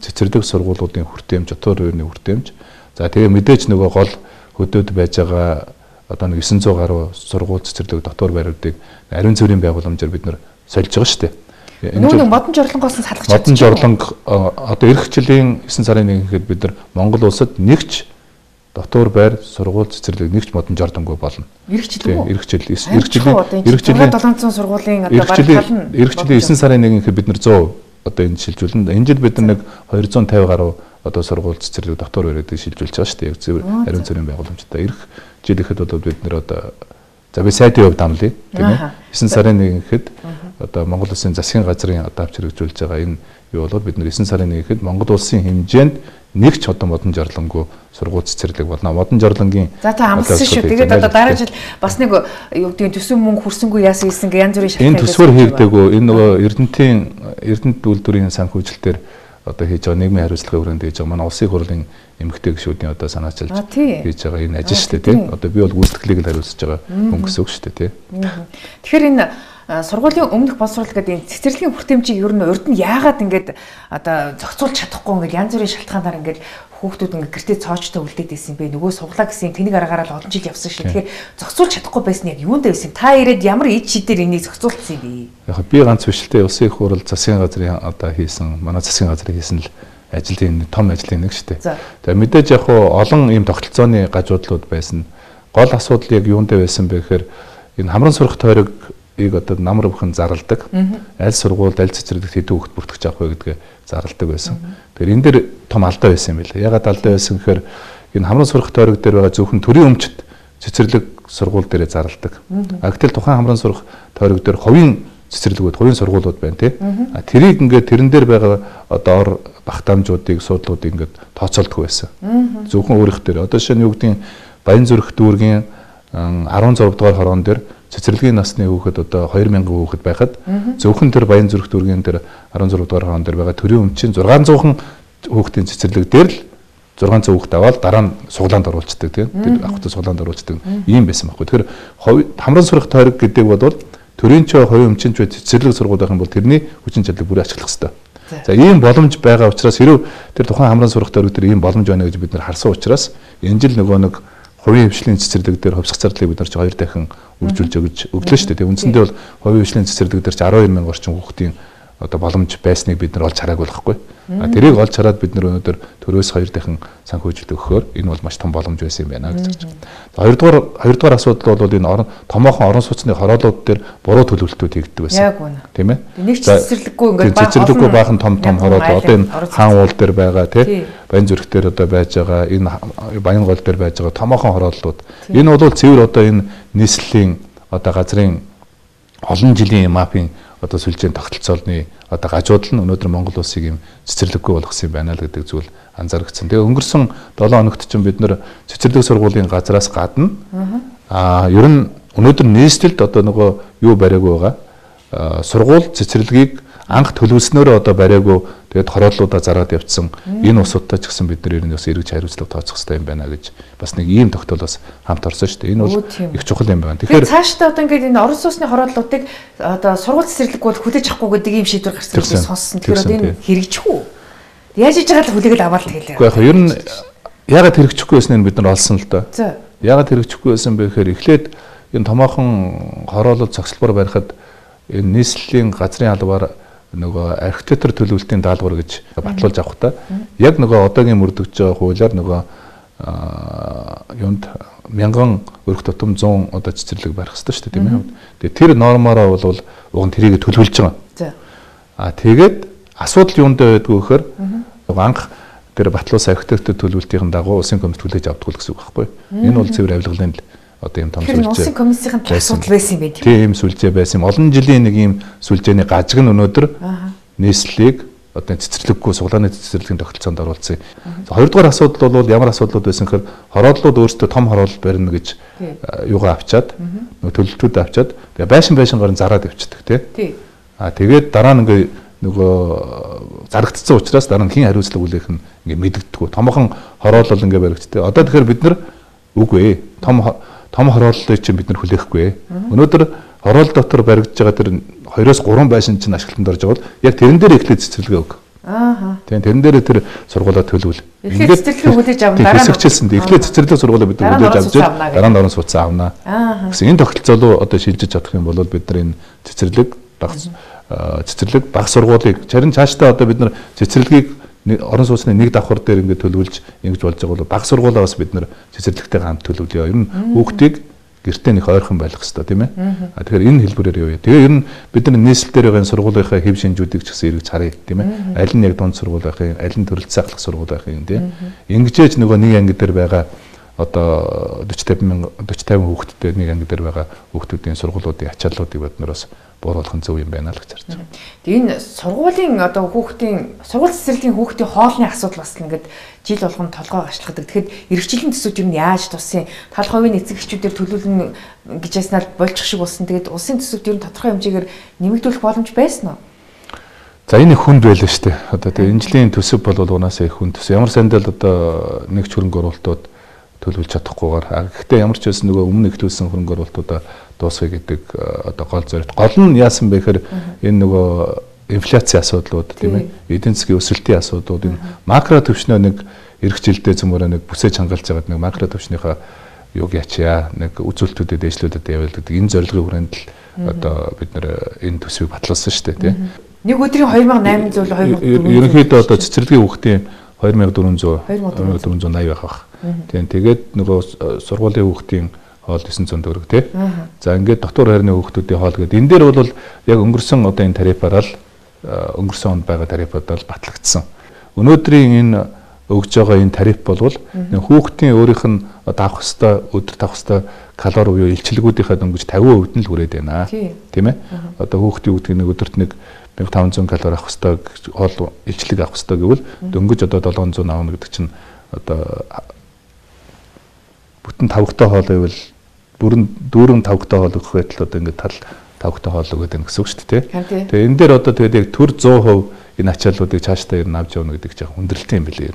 цэцэрлэг сургуулиудын хүртээмж, дотор үеийн хүртээмж. За тэгээ мэдээж нөгөө гол хөдөөд байж байгаа одоо нэг 900 гаруй сургууль цэцэрлэг дотор байруудыг ариун цэврийн байгууламжаар бид нар сольж байгаа шүү дээ. Нөгөө модон жорлонгоос нь салгаж чадчих. Модон жорлонго одоо эх жилийн 9 сарын 1-нд бид нар Монгол улсад нэгч дотор байр сургууль цэцэрлэг нэгч модон жорлонго болно. Эх жил үү? Эх жилийн 700 сургуулийн одоо бараг тал нь эх жилийн 9 сарын 1-нд бид нар 100 одоо энэ шилжүүлнэ. Энэ жил бид нар нэг 250 гаруй одоо сургууль цэцэрлэг дотор байруудыг шилжүүлж байгаа шүү дээ. Яг зөв ариун цэврийн байгууламжтай. Эх жил ихэд бол бид нар одоо за би сайдын хувьд амлая тийм ээ. 9 сарын 1-нд ихэд одоо Монгол Улсын засгийн газрын одоо авч хэрэгжүүлж байгаа энэ юу бол бид нар 9 сарын 1-нд ихэд Монгол Улсын хэмжээнд нэг ч одоо модон жорлонго сургууль цэцэрлэг болно. Модон жорлонгийн за та амлсан шүү. Тэгээд одоо дараа жил бас нэг юу гэдэг төсөв мөнгө хүрсэнгүй яасан гэсэн янз бүрийн шалтгаан. Энэ төсвөр хийгдээгүй. Энэ нөгөө Эрдэнэт үйлдвэрийн санхүүжилтээр одоо хийж байгаа нийгмийн хариуцлагын хүрээнд хийж байгаа манай улсын хурлын эмэгтэй гишүүдийн одоо санаачилж хийж байгаа энэ ажил шүү дээ тийм. Одоо би бол гүйцэтгэлийг л хариуцж байгаа хүн гэсэн үг шүү дээ тийм. Тэгэхээр энэ сургуулийн өмнөх боловсрол гэдэг энэ цэцэрлэгийн хүртээмжийг ер нь урд нь яагаад ингэж одоо зохицуулж чадахгүй ингэж янз бүрийн шалтгаанаар ингэж хүүхдүүд ингэ гэртээ цоочтой үлдээд байсан бэ нөгөө суглаа гэсэн тэнэг аргаараа л олон жил явсан шүү. Тэгэхээр зохицуулж чадахгүй байсан яг юунд байсан та ирээд ямар ид шидээр энийг зохицуулсан бэ? Яг би ганц биш л дээ улсын их хурл засгийн газрын одоо хийсэн манай засгийн газрын хийсэн л ажлын том ажлын нэг шүү дээ. Тэгээ мэдээж яг олон ийм тогтолцооны гажуудлууд байсан. Гол асуудал яг юунд байсан бэ гэхээр энэ хамран сурах тойрог одоо намар бүхэн зарладаг. Аль сургуульд аль цэцэрлэгт хэдэн хүүхэд бүртгэж авах вэ гэдгээ зарладаг байсан. Тэгэхээр энэ дээр том алдаа байсан юм байна. Ягаад алдаа байсан гэхээр энэ хамран сурах тойрог дээр байгаа зөвхөн төрийн өмчт цэцэрлэг сургууль дээрээ зарладаг. Гэтэл тухайн хамран сурах тойрог дээр хувийн цэцэрлэгүүд, хувийн сургуулиуд байна тий. Тэрийг ингээд тэрэн дээр байгаа одоо ор багтаамжуудыг, суудлуудыг ингээд тооцоолдог байсан. Зөвхөн өөрийнх дээр. Одоо жишээ нь юу гэдгийг Баянзүрх дүүргийн 16 дугаар хорон дээр цэцэрлэгийн насны хүүхэд одоо 2000 хүүхэд байхад зөвхөн тэр Баянзүрх дүүргийн тэр 16 дугаар хорон дээр байгаа төрийн өмчийн 600 хүүхдийн цэцэрлэг дээр л 600 хүүхэд аваад дараа нь суглаанд оруулцдаг тийм. Тэр авахтай суглаанд оруулцдаг ийм байсан байхгүй. Тэгэхээр хамран сурах тойрог гэдэг бол төрийн ч хувийн өмчийн ч цэцэрлэг сургууль байх юм бол тэрний хүчин чадлыг бүрэн ашиглах хэрэгтэй. За ийм боломж байгаа учраас хэрв тэр тухайн хамран сурах тойрог дээр ийм боломж байна гэж бид нар харсан учраас энэ жил нөгөө нэг хувийн хвшлийн цэцэрлэг дээр хувьсгах зардлыг бид нар ч 2 дахин үржүүлж өглөө шүү дээ. Үндсэндээ бол хувийн хвшлийн цэцэрлэг дээр ч 12000 орчим хүүхдийн одоо боломж байсныг бид нар олж хараагүй байхгүй. Тэрийг олж хараад бид нар өнөөдөр төрөөс 2 дахин санхүүжилт өгөхөөр энэ бол маш том боломж байсан юм байна гэж хэлж байна. Хоёрдугаар асуудал бол энэ томоохон орон сууцны хороолууд дээр буруу төлөвлөлтүүд хийгддэг байсан. Яг үнэ. Тийм ээ. Нэг цэцэрлэггүй ингээд цэцэрлэггүй баахан том хороол одоо энэ хаан уул дээр байгаа тий Баянзүрх дээр одоо байж байгаа энэ Баянгол дээр байж байгаа томоохон хорооллууд. Энэ бол цэвэр одоо энэ нийслэлийн одоо газрын олон жилийн мапын одоо сүлжээний тогтолцоолны одоо гажуудал нь өнөөдөр Монгол улсыг юм цэцэрлэггүй болгосон юм байна л гэдэг зүйл анзаарэгдсэн. Тэгээ өнгөрсөн 7 хоногт ч бид нэр цэцэрлэг сургуулийн газраас гадна ер нь өнөөдөр нийслэлд одоо нөгөө юу бариагүй байгаа сургууль цэцэрлэгийг анх төлөвлөснөөрөө одоо бариагүй тэгээд хорооллуудаа зараад явцсан энэ усуудтай ч гэсэн бид нар ер нь бас эргэж хариуцлага тооцох хэрэгтэй юм байна гэж бас нэг ийм тогтоолоос хамт орсон шүү дээ. Энэ бол их чухал юм байна. Тэгэхээр цаашдаа одоо ингээд энэ орон сууцны хорооллуудыг одоо сургууль цэцэрлэггүй хүлээж авахгүй гэдэг ийм шийдвэр гарсан гэж сонссон. Тэгэхээр одоо энэ хэрэгжихгүй. Яаж хийж байгаа л хүлээгээд аваад хэлээ. Уу яг ер нь яагаад хэрэгжихгүй байсныг бид нар олсон л доо. Яагаад хэрэгжихгүй байсан бэ гэхээр эхлээд энэ томоохон хороолол цогцлбор барихад энэ нийслэлийн газрын албаар нөгөө архитектур төлөвлөлтийн даалгавар гэж батлуулж авах та яг нөгөө одоогийн мөрдөгч байгаа хуулиар нөгөө юунд 1000 өрх тутам 100 одоо цэцэрлэг барих хэрэгтэй шүү дээ тийм ээ. Тэгээ тэр нормороо бол уг нь тэрийг төлөвлөж байгаа. Тэгээд асуудал юунд байдгүй гэхээр анх тэр батлуулсан архитектур төлөвлөлтийн дагуу улсын комисс хүлээж авдаг гэсэн үг байхгүй. Энэ бол цэвэр авилгалын одоо ийм том сүлжээ. Улсын комиссийн асуудал байсан юм байна. Тийм сүлжээ байсан. Олон жилийн нэг ийм сүлжээний гажиг нь өнөөдөр нийслэлийг одоо цэцэрлэггүй суглааны цэцэрлэгийн тогтолцоонд оруулсан. Хоёрдугаар асуудал бол ямар асуудлууд байсан гэхээр хороодлууд өөрсдөө том хороол барина гэж юугаа авчаад нөгөө төлөлтүүд авчаад тэгээ байшин зараад явчихдаг тий. Тэгээд дараа нь нөгөө зарагдсан учраас дараа нь хэн хариуцлага үлээх нь ингээ мэддэггүй. Томхон хороол бол ингээ баригддаг. Одоо тэгэхээр бид нар үгүй ээ. Том хорооллыг чинь бид нар хүлээхгүй. Өнөөдөр хороол дотор баригдаж байгаа тэр 2-3 байшин чинь ашиглалтанд орж байгаа бол яг тэрэн дээр эхлээд цэцэрлэгээ өг. Тийм тэрэн дээр тэр сургуулаа төлөвл. Эхлээд цэцэрлэгээ хүлээж авах дараа нь хэсэгчилсэн. Эхлээд цэцэрлэг сургуулаа бид нар хүлээж авч дараа нь орон сууцсан авнаа. Гэсэн энэ тогтолцоо руу одоо шилжиж чадах юм бол бид нар энэ цэцэрлэг баг сургуулийг чарын цаашдаа одоо бид нар цэцэрлэгийг орон сууцны нэг давхар дээр ингээд төлөвлөж ингэж болж байгаа бол баг сургуулаа бас бид нар цэцэрлэгтэйгээ хамт төлөвлөё. Ер нь хүүхдийг гэртээ нэг ойрхон байх хэрэгтэй тийм ээ. Тэгэхээр энэ хэлбэрээр явъя. Тэгээ ер нь бид нар нийслэл дээр байгаа сургуулийнхаа хэв шинжүүдийг ч гэсэн эргэж харъя тийм ээ. Аль нь яг дунд сургууль байх юм, аль нь төрөлт сайхлах сургууль байх юм тийм. Ингэжээж нөгөө нэг анги дээр байгаа одоо 40-50 хүүхэдтэй нэг анги дээр байгаа хүүхдүүдийн сургуулиудын ачааллуудыг бид нар бас бууруулах нь зөв юм байна л гэж харж байна. Тэгээ энэ сургуулийн одоо сургууль цэцэрлэгийн хүүхдийн хоолны асуудал бас ингээд жил болгон толгой гашлагдаг. Тэгэхэд эрхчлэн төсөвч юм яаж тусын тал хувийн эцэг эхчүүдээр төлөвлөн гэж яснаар болчих шиг болсон. Тэгээд улсын төсөвт ер нь тодорхой хэмжээгээр нэмэгдүүлэх боломж байсан уу? За энэ хүнд байлаа шүү дээ. Одоо тэгээ энэ жилийн төсөв бол унаасаа их хүнд төсөв. Ямар сандал одоо нэг ч хөрөнгө оруулалтууд төлөвлөж чадахгүйгээр. Гэхдээ ямар ч байсан нөгөө өмнө их төлсөн хөрөнгө оруулалтуудаа дуусгая гэдэг одоо гол зорилт. Гол нь яасан бэ гэхээр энэ нөгөө инфляцийн асуудлууд тийм ээ, эдийн засгийн өсөлтийн асуудлууд энэ макро төвшнөө нэг эх жилдээ зөмөрөө нэг бүсэж хангалж байгаад нэг макро төвшнийхаа юуг ячаа нэг үзүүлэлтүүдэд дэвшлүүдэд явуулдаг. Энэ зорилгын хүрээнд л одоо бид нэр энэ төсвийг батлуулсан шүү дээ тийм. Нэг өдрийн 2800 2400. Ерөнхийдөө одоо цэцэрлэгийн хүүхдийн 2480 байх. Тийм тэгээд нөгөө сургуулийн хүүхдийн хоол 900 төгрөг тий. За ингээд дотор хайрны хүүхдүүдийн хоол гэдэг. Энэ дээр бол яг өнгөрсөн одоо энэ тарифаараа л өнгөрсөн онд байгаа тарифуудаа л батлагдсан. Өнөөдрийн энэ өгж байгаа энэ тариф болвол хүүхдийн өөрийнх нь авах хэвээр өдөр тавах хэвээр калори буюу илчлэгүүдийнхээ дөнгөж 50% нь л хүрээд байна. Тийм ээ. Одоо хүүхдийн үүдгийг нэг өдөрт нэг 1500 калори авах хэвээр хоол илчлэг авах хэвээр гэвэл дөнгөж одоо 700 авах гэдэг чинь одоо бүтэн тавхтай хоол байвал дүүрэн тавхтай хоол өгөх байтал одоо ингээд тал тавхтай хоол өгöd байх гэсэн үг шүү дээ. Тэгээ энэ дээр одоо тэгээд яг төр 100% энэ ачааллуудыг цаашдаа ер нь авч явна гэдэг чинь хүндрэлтэй юм билээ.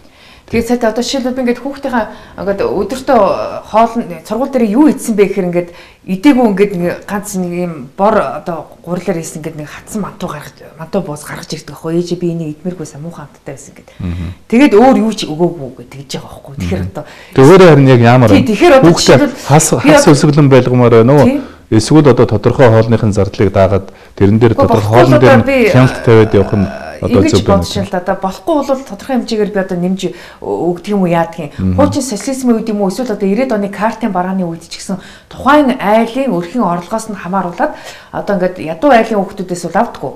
Тэгээд сая одоо жишээлбэл ингээд хүүхдийнхээ ингээд өдөртөө хоол сургууль дээр юу идсэн бэ гэхээр ингээд идээгүй ингээд ганц нэг юм бор одоо гурлаар ийсэн ингээд нэг хатсан мантуу буус гаргаж ирдэг байхгүй ээжээ би энийг идмээргүйсэн муухай амттай байсан гэдэг. Тэгээд өөр юу ч өгөөгүй гэж байгаа байхгүй. Тэгэхээр одоо өөрөө харин яг ямар хүүхдээ хас өсөглөн байлгамаар байна уу? Эсвэл одоо тодорхой хоолныхын зардлыг даагаад тэрэн дээр тодорхой хоолн дээр хяналт тавиад явах нь одоо зөв байна. Одоо болохгүй бол тодорхой хэмжээгээр би одоо нэмж өгдөг юм уу яадаг юм. Хуучин социализмын үед юм уу эсвэл одоо 90-ад оны картын барааны үед ч гэсэн тухайн айлын өрхийн орлогоос нь хамааруулаад одоо ингээд ядуу айлын хүүхдүүдээс бол авдаггүй.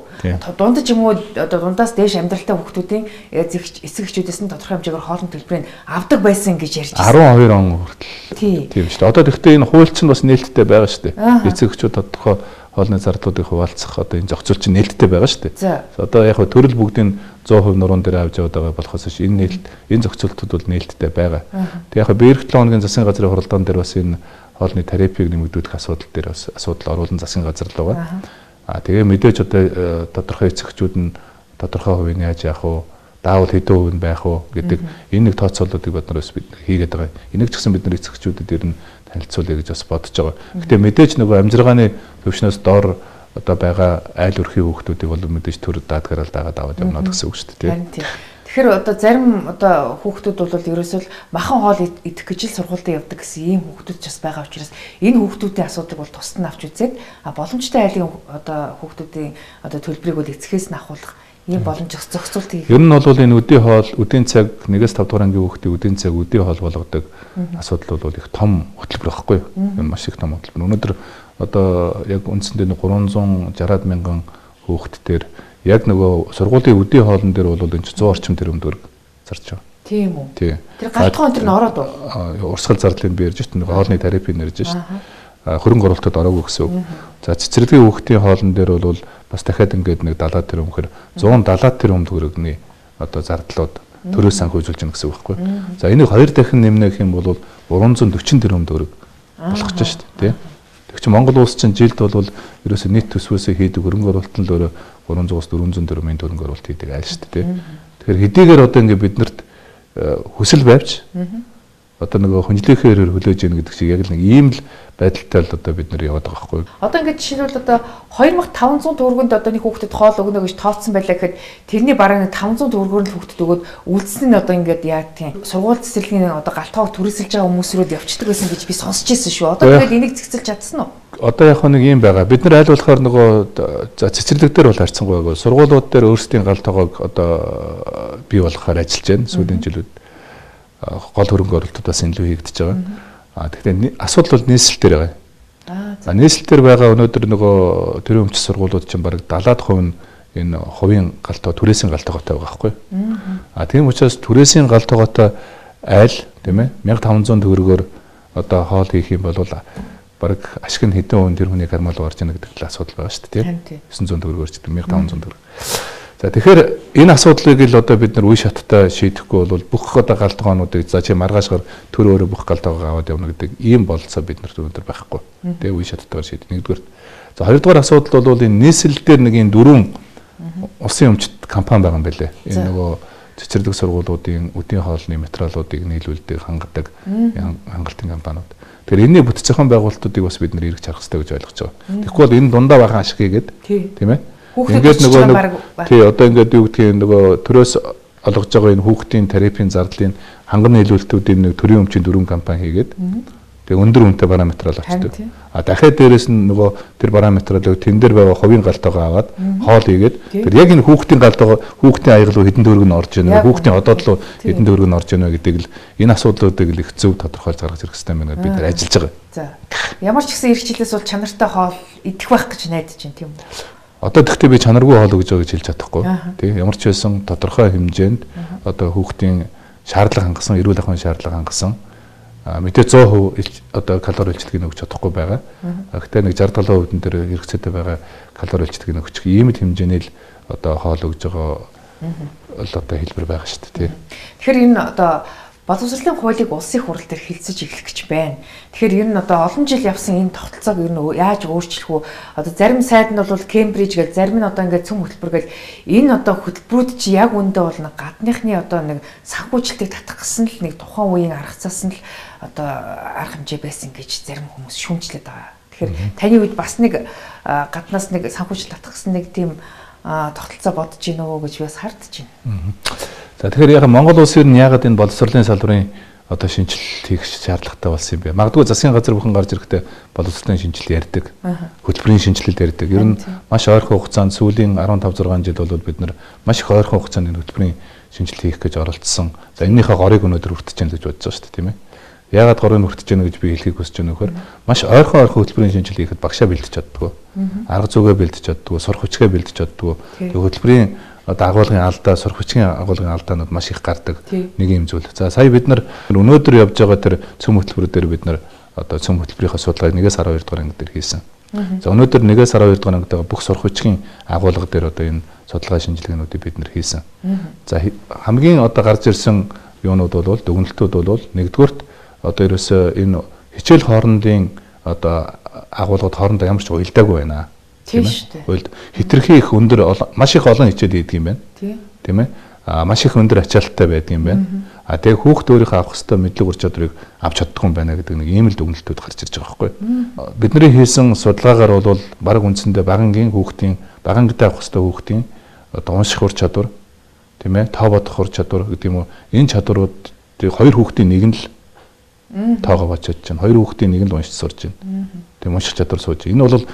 Дундаж юм уу одоо дундаас дээш амьдралтай хүүхдүүдийн эцэг эхчүүдээс нь тодорхой хэмжээгээр хоолны төлбөрийг авдаг байсан гэж ярьж байна. 12 он хүртэл. Тийм шүү дээ. Одоо тэгвэл энэ хууль чинь бас нээлттэй байгаа шүү дээ. Эцэг эхчүүд тодорхой хоолны зардлуудыг хуваалцах одоо энэ зохицол чинь нээлттэй байгаа шүү дээ. Одоо яг төрөл бүгдийн 100% нуруунд дээр авч яваад байгаа болохоос энэ зохицолтууд бол нээлттэй байгаа. Тэг яг би эх 7 хоногийн засгийн газрын хуралдаан дээр бас энэ хоолны тарифыг нэмэгдүүлэх асуудал дээр бас асуудал оруулан засгийн газар л байгаа. Тэгээ мэдээж одоо тодорхой эцэгчүүд нь тодорхой хувийн яаж яах вэ? Даавал хэдэн хувь нь байх вэ гэдэг энэ нэг тооцоололтыг бид нар бас хийгээд байгаа. Энийг ч гэсэн бид нар эцэгчүүдэд ер нь танилцуулъя гэж бас бодож байгаа. Гэтэ мэдээж нөгөө амжиргааны төвшнөөс доор одоо байгаа айл өрхийн хүүхдүүдийг бол мэдээж төр даадгараа дагаад аваад явна гэсэн үг шүү дээ. Тэгэхээр одоо зарим одоо хүүхдүүд бол ерөөсөө махан хоол идэх гэж л сургуультай явдаг гэсэн ийм хүүхдүүд ч бас байгаа учраас энэ хүүхдүүдийн асуудыг бол тусад нь авч үзээд боломжтой айлын одоо хүүхдүүдийн одоо төлбөрийг бол эцгээс нь ахуулах ийм боломж зохицуулт хийх. Ер нь бол энэ үдийн цаг 1-5 дугаар ангийн хүүхдийн үдийн цаг үдийн хоол болгодог асуудал бол их том хөтөлбөр байхгүй юу? Энэ маш их том хөтөлбөр. Өнөөдөр одоо яг үндсэндээ 360 мянган хүүхдтэр яг нөгөө сургуулийн үдийн хоолн дээр бол энэ 100 орчим тэрбум төгрөг зарж байгаа. Тийм үү? Тийм. Тэр галтгой энэ ороод уу? Урсгал зардлыг би ярьж байна. Хоолны тарифыг ярьж байна. Хөрөнгө оруулалтад ороогүй гэсэн үг. За цэцэрлэгийн хүүхдийн хоолн дээр бол бас дахиад ингээд нэг 70 тэрбум гэхээр 170 тэрбум төгрөгийн одоо зардлууд төрөөс санхүүжүүлж гэнэ гэсэн үг байхгүй. За энийг 2 дахин нэмнэх юм бол 340 тэрбум төгрөг болох ч шүү дээ, тий. Тэг чи Монгол улс чинь жилд бол ерөөсөө нийт төсвөөсөө хийдэг хөрөнгө оруулалт нь л өөрөө 300-аас 400 тэрбумын хөрөнгө оруулалт хийдэг айл шүү дээ, тий. Тэгэхээр хэдийгээр одоо ингээд биднэрт хүсэл байвч одоо нөгөө хүндлэхээр хөлөөж ийн гэдэг шиг яг л нэг ийм л байдалтай л одоо бид нар яваад байгаа байхгүй. Одоо ингээд жишээлбэл одоо 2500 төгрөгөнд одоо нэг хүүхдэд хоол өгнө гэж тооцсон байлаа гэхэд тэрний бараг 500 төгрөгөөр л хүүхдэд өгөөд үлдсэн нь одоо ингээд яа тийм сургууль цэцэрлэгийн одоо галтгоог түрээсэлж байгаа хүмүүсрүүд явчихдаг байсан гэж би сонсч ирсэн шүү. Одоо тэгээд энийг зэгцэлж чадсан уу? Одоо яг нэг юм байгаа. Бид нар аль болохоор нөгөө цэцэрлэг дээр бол харьцангуй байгаа. Сургуулиуд дээр өөрсдийн галтгоог одоо бий болгохоор ажиллаж байна сүүлийн жилүүд. Гол хөрөнгө оруулалтууд бас илүү хийгдэж байгаа. Тэгэхээр асуудал бол нийслэл дээр байгаа. Нийслэл дээр байгаа өнөөдөр нөгөө төрийн өмчс сургуулиуд чинь бараг 70% нь энэ хувийн галтгоо түрээсийн галтгоотой байгаа байхгүй. Тийм учраас түрээсийн галтгоотой айл тийм ээ 1500 төгрөгөөр одоо хоол хийх юм бол бараг ашиг нь хэдэн хувийн тэр хүний кармал орж яана гэдэг л асуудал байгаа шүү дээ. 900 төгрөгөөр ч 1500 төгрөг. За тэгэхээр энэ асуудлыг л одоо бид нар үе шаттай шийдэхгүй бол бүх одоо галтгоонуудыг за чи маргаашгаар төр өөрөө бүх галтгоогоо аваад явна гэдэг ийм болцоо бид нарт өнөөдөр байхгүй. Тэгээ үе шаттайгаар шийдэх. Нэгдүгээр. За хоёрдугаар асуудал бол энэ нийслэл дээр нэг энэ дөрвөн улсын өмчт компани байгаа юм байлээ. Энэ нөгөө цэцэрлэг сургуулиудын үдийн хоолны материалуудыг нийлүүлдэг хангадаг хангалтын компаниуд. Тэгэхээр энэний бүтэц зохион байгуулалтуудыг бас бид нар эргэж харах хэрэгтэй гэж ойлгож байгаа. Тэгэхгүй бол энэ дундаа бахан ашиг хийгээд тийм ээ. Ингээд нөгөө тий одоо ингээд юу гэдгийг нөгөө төрөөс олгож байгаа энэ хүүхдийн терапийн зардлын ханган нийлүүлэлтүүдийн нэг төрийн өмчийн дөрвөн компани хийгээд тэгээ өндөр үнэтэй параметрал очдог. Дахиад дээрэс нь нөгөө тэр параметралыг тэн дээр байгаа хувийн галтгоогоо аваад хоол хийгээд тэр яг энэ хүүхдийн галтгоо хүүхдийн аяг руу хэдэн төгрөг нь орж ийнэ хүүхдийн одоод руу хэдэн төгрөг нь орж ийнэ гэдэг л энэ асуудлуудыг л их зөв тодорхойлж гаргаж ирэх хэрэгтэй байна бид нар ажиллаж байгаа. За ямар ч гэсэн эрхчлээс бол чанартай хоол идэх байх гэж найдаж байна тийм үү? Одоо тэгтээ би чанаргүй хоол өгж байгаа гэж хэлж чадахгүй. Тэг ямар ч байсан тодорхой хэмжээнд одоо хүүхдийн шаардлага хангасан, эрүүл ахуйн шаардлага хангасан мэдээ 100% одоо калори илчлэгийг өгч чадахгүй байгаа. Гэхдээ нэг 60-70% нь дээр хэрэгцээтэй байгаа калори илчлэгийг өгчих ийм л хэмжээний л одоо хоол өгж байгаа л одоо хэлбэр байгаа шүү дээ. Тэгэхээр энэ одоо боловсролын хуулийг улсын хурал дээр хэлцэж эхлэх гэж байна. Тэгэхээр ер нь одоо олон жил явсан энэ тогтолцоог ер нь яаж өөрчлөх вэ? Одоо зарим сайд нь бол Кембриж гэж, зарим нь одоо ингээд цөм хөтөлбөр гэж энэ одоо хөтөлбөрүүд чи яг үндэ бол нэг гадныхны одоо нэг санхүүжилтийг татах гэсэн л нэг тухайн үеийн арга цаас нь л одоо арга хэмжээ байсан гэж зарим хүмүүс шүүмжлээд байгаа. Тэгэхээр таны үед бас нэг гаднаас нэг санхүүжилт татах гэсэн нэг тийм тогтолцоо бодож гинэ үү гэж би бас хардж байна. За тэгэхээр яг Монгол улс ер нь яагаад энэ боловсролын салбарын одоо шинжилэлт хийх шаардлагатай болсон юм бэ? Магадгүй засгийн газар бүхэн гарч ирэхдээ боловсролын шинжилэл ярьдаг. Хөтөлбөрийн шинжилэл ярьдаг. Ер нь маш ойрхон хугацаанд сүүлийн 15-6 жил бол бид нар маш их ойрхон хугацаанд энэ хөтөлбөрийн шинжилэл хийх гэж оролцсон. За энэнийхээ горыг өнөөдөр хүртэж байна гэж бодож байгаа шүү дээ, тийм ээ. Яагаад горыг хүртэж байна гэж би хэлхийг хүсэж байна вөхөр маш ойрхон хөтөлбөрийн шинжилэл хийхэд багшаа бэлдэж чаддгүй. Арга зүйгээ бэлдэж чаддгүй, сурах хүчгээ бэлдэж чаддгүй. Хөтөлбөрийн одоо агуулгын алдаа, сурах хүчгийн агуулгын алдаанууд маш их гардаг нэг юм зүйл. За сая бид нар өнөөдөр явж байгаа тэр цөм хөтөлбөрөөр бид нар одоо цөм хөтөлбөрийнхаа судалгааг 1-ээс 12 дугаар анги дээр хийсэн. За өнөөдөр 1-ээс 12 дугаар ангид байгаа бүх сурах хүчгийн агуулга дээр одоо энэ судалгаа шинжилгээнүүдийг бид нар хийсэн. За хамгийн одоо гарч ирсэн юунууд бол дүгнэлтүүд бол нэгдүгürt одоо ерөөсөө энэ хичээл хоорондын одоо агуулгад хоорондоо ямар ч уялдаагүй байна. Тийм шүү дээ. Хитрхи их өндөр маш их олон хичээл хийдэг юм байна. Тийм ээ. Маш их өндөр ачаалттай байдаг юм байна. Тэгээ хүүхд өөрийнхөө авах ёстой мэдлэг ур чадварыг авч чаддгүй юм байна гэдэг нэг ийм л дүгнэлтүүд гарч ирж байгаа байхгүй. Бидний хийсэн судалгаагаар бол баг үндсэндээ багангийн хүүхдийн багангидаа авах ёстой хүүхдийн одоо унших ур чадвар тийм ээ, тоо бодох ур чадвар гэдэг юм уу. Энэ чадваруудыг хоёр хүүхдийн нэг нь л тоогоо бодож чинь, хоёр хүүхдийн нэг нь л уншиж сурж байна. Тийм унших чадвар сууж. Энэ бол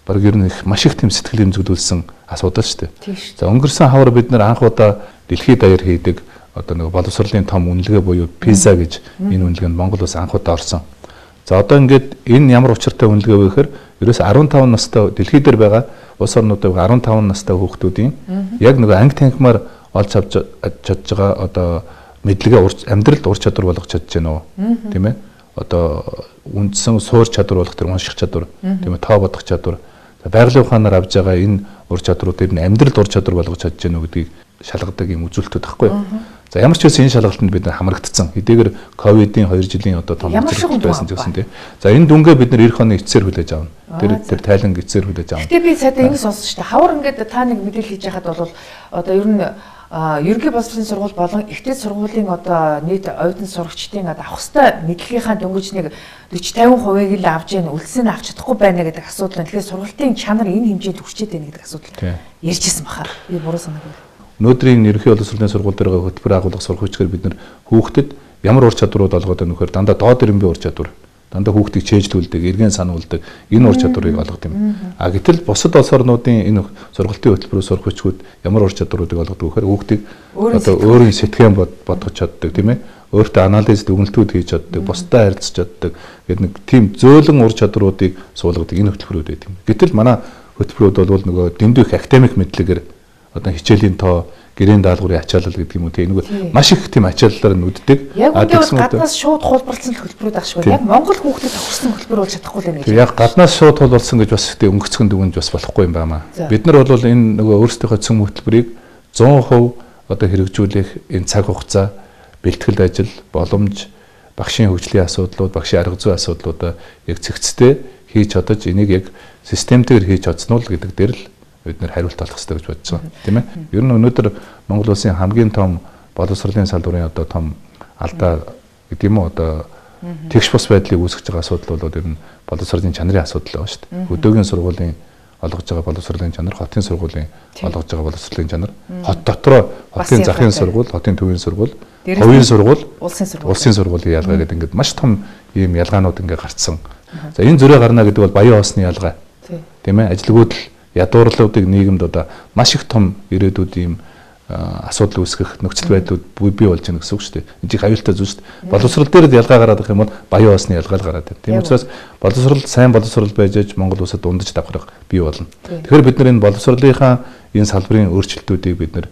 баг ер нь маш их тийм сэтгэл хөдлүүлсэн асуудал шүү дээ. За өнгөрсөн хавар бид нэр анх удаа дэлхийд даяар хийдэг одоо нэг боловсролын том үнэлгээ буюу PISA гэж энэ үнэлгээнд Монгол улс анх удаа орсон. За одоо ингээд энэ ямар учиртай үнэлгээ вэ гэхээр ерөөс 15 настай дэлхийд дээр байгаа улс орнуудад 15 настай хүүхдүүдийн яг нэг анги танхимаар олж авч чадж байгаа одоо мэдлэгээ амьдралд ур чадвар болгож чадж байна уу? Тийм ээ. Одоо үндсэн суур чадвар болох тэр унших чадвар, тийм ээ, тоо бодох чадвар. байгалийн ухаанаар авж байгаа энэ ур чадруудыг нь амьдралд ур чадвар болгож чадж гэнэ гэдгийг шалгадаг юм үзүүлэлтүүд байхгүй. За ямар ч байсан энэ шалгалтанд бид хамрагдсан. Хэдийгээр ковидын 2 жилийн одоо том үзүүлэлт байсан гэсэн тийм. За энэ дүнгээ бид эх оны эцсээр хүлээж авна. Тэр тайлан эцсээр хүлээж авна. Гэтэ би сая ингэ сонссон шүү дээ. Хавар ингээд та нэг мэдээлэл хийж яхад бол одоо ер нь ерөнхий боловсролын сургууль болон ихтэй сургуулийн одоо нийт оюутан сурагчдын авах ёстой мэдлэгийнхаа дөнгөж нэг 40-50% л авч яана үлдсэнд авч чадахгүй байна гэдэг асуудал нь. Тэгэхээр сургалтын чанар энэ хэмжээнд хүрчээд байна гэдэг асуудал ярьжсэн баха. Би буруу санаагүй. Өнөөдрийн ерөнхий боловсролын сургууль дээр хөтөлбөр агуулга сурах хүчээр бид нар хүүхдэд ямар ур чадварууд олгоод байна вөхөр дандаа доод ирэмбийн ур чадвар, дандаа хүүхдийг чэйжлүүлдэг, эргэн сануулдаг энэ ур чадварыг олгод юм. Гэтэл бусад улс орнуудын энэ сургалтын хөтөлбөрөөр сурах хүчгүүд ямар ур чадваруудыг олгодог вөхөр хүүхдийг одоо өөрийн сэтгэн бодгож чаддаг тийм ээ. Өөртөө анализ дүгнэлтүүд хийж чаддаг, бусдад харилцаж чаддаг гэдэг нэг тийм зөөлөн ур чадваруудыг суулгадаг энэ хөтөлбөрүүд байдаг юм. Гэтэл манай хөтөлбөрүүд бол нөгөө дэндүү их академик мэдлэгээр одоо хичээлийн тоо, гэрээний даалгаврын ачаалал гэдэг юм уу тийм нэг маш их тийм ачааллаар нүддэг. Тэгсэн гаднаас шууд хулбарлсан хөтөлбөрүүд ах шиг байна. Яг Монгол хүүхдэд тохирсон хөтөлбөр болж чадахгүй л юм гэж. Яг гаднаас шууд хулбарлсан гэж бас тийм өнгөцгөн дүгнж бас болохгүй юм байна. Бид нар бол энэ нөгөө өөрсдийнхөө цөм хөтөлбөрийг 100% одоо хэрэгжүүлэх энэ цаг хугацаа, бэлтгэл ажил, боломж, багшийн хөгжлийн асуудлууд, багшийн арга зүйн асуудлуудаа яг цэгцтэй хийж чадаж энийг яг системтэйгээр хийж чадсан уу гэдэг дээр л бид нэр хариулт олох хэрэгтэй гэж бодож байгаа тийм ээ. Ер нь өнөөдөр Монгол улсын хамгийн том боловсролын салбарын одоо том алдаа гэдэг юм уу одоо тэгш бус байдлыг үүсгэж байгаа асуудал бол ер нь боловсролын чанарын асуудал байгаа шүү дээ. Өдөөгийн сургуулийн олгож байгаа боловсролын чанар, хотын сургуулийн олгож байгаа боловсролын чанар, хот дотроо хотын захын сургууль, хотын төвийн сургууль, хувийн сургууль, улсын сургуулийн ялгаа гэдэг ингээд маш том ийм ялгаанууд ингээд гарцсан. За энэ зүрэ гарна гэдэг бол баян хоосны ялгаа. Тийм ээ. Ажилгүйдэл ядуурлуудыг нийгэмд одоо маш их том ирээдүйд ийм асуудал үүсгэх нөхцөл байдлууд бий болж байна гэсэн үг шүү дээ. Энд чинь аюултай зүйл шүү дээ. Боловсрол дээр ялгаа гараад их юм бол баян хоосны ялгаа л гараад байна. Тийм учраас боловсрол сайн боловсрол байж аж Монгол улсад дундаж давхрах бий болно. Тэгэхээр бид нар энэ боловсролынхаа энэ салбарын өөрчлөлтүүдийг бид нар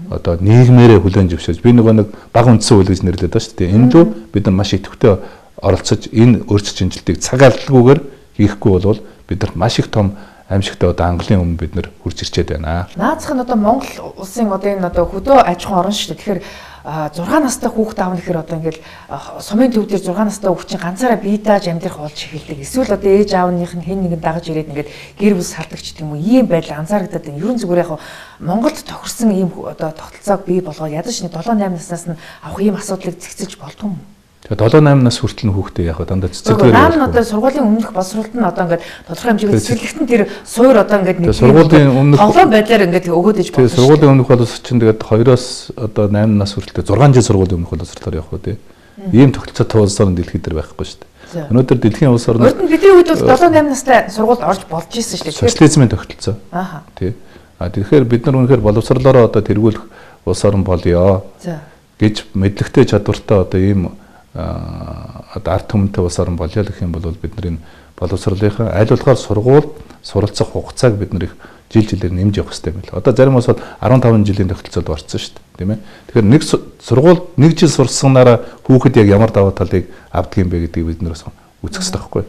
одоо нийгмээрээ хүлээн зөвшөөрж би нөгөө нэг бага үндсэн үйл гэж нэрлэдэг байна шүү дээ. Энэ дүү бид нар маш идэвхтэй оролцож энэ өөрчлөлт шинжилтийг цаг алдалгүйгээр хийхгүй бол бид нар маш их том аимшигтай одоо Английн өмнө бид нэр хурж ирчээд байна. Наацх нь одоо Монгол улсын одоо энэ одоо хөдөө аж ахуйн орн шүү дээ. Тэгэхээр 6 настай хүүхэд аав нэхэр одоо ингээл сумын төв дээр 6 настай хүүхэд чинь ганцаараа бие дааж амьдрах болж эхэлдэг. Эсвэл одоо ээж аавных нь хэн нэгэн дагаж ирээд ингээд гэр бүл салдагч гэдэг юм уу ийм байдал анзаарэгдээд байна. Ерөн зүгээр яг Монголд тохирсон ийм одоо тогтолцоог бий болгоо ядаж нэг 7-8 наснаас нь авах ийм асуудлыг зэгцэж болдгоо юм. Тэгээ 7-8 нас хүртэл хүүхдээ яг дандаа цэцэглэр байна. Наан одоо сургуулийн өмнөх боловсролт нь одоо ингээд тодорхой хэмжээгээр цэцэглэгтэн тэр суур одоо ингээд нэг сургуулийн өмнөх тоглоом байдлаар ингээд өгөөд иж болно. Тэгээ сургуулийн өмнөх боловсролт чинь тэгээд 2-оос одоо 8 нас хүртэл 6 жил сургуулийн өмнөх боловсролоор явах уу тий. Ийм тогтолцоотой улс орн дэлхийд дээр байхгүй шүү дээ. Өнөөдөр дэлхийн улс орнууд бидний үед бол 7-8 настай сургуульд орж болж ирсэн шүү дээ. Социализмын тогтолцоо. Тий. Тэгэхээр бид нар үнэхээр боловсролоороо одоо тэргүүлэх улс орн болёо гэж мэдлэгтэй чадвартай одоо ийм одоо ард түмэнтэй улс орн болёо гэх юм бол бид нар энэ боловсролынхаа аль болохоор суралцах хугацааг бид нар их жилээр нэмж явах хэрэгтэй байл. Одоо зарим улс бол 15 жилийн тогтолцоод орсон шүү дээ, тийм ээ. Тэгэхээр нэг сургууль 1 жил сурсанараа хүүхэд яг ямар даваа талыг авдаг юм бэ гэдгийг бид нар үзэх хэрэгтэй байхгүй.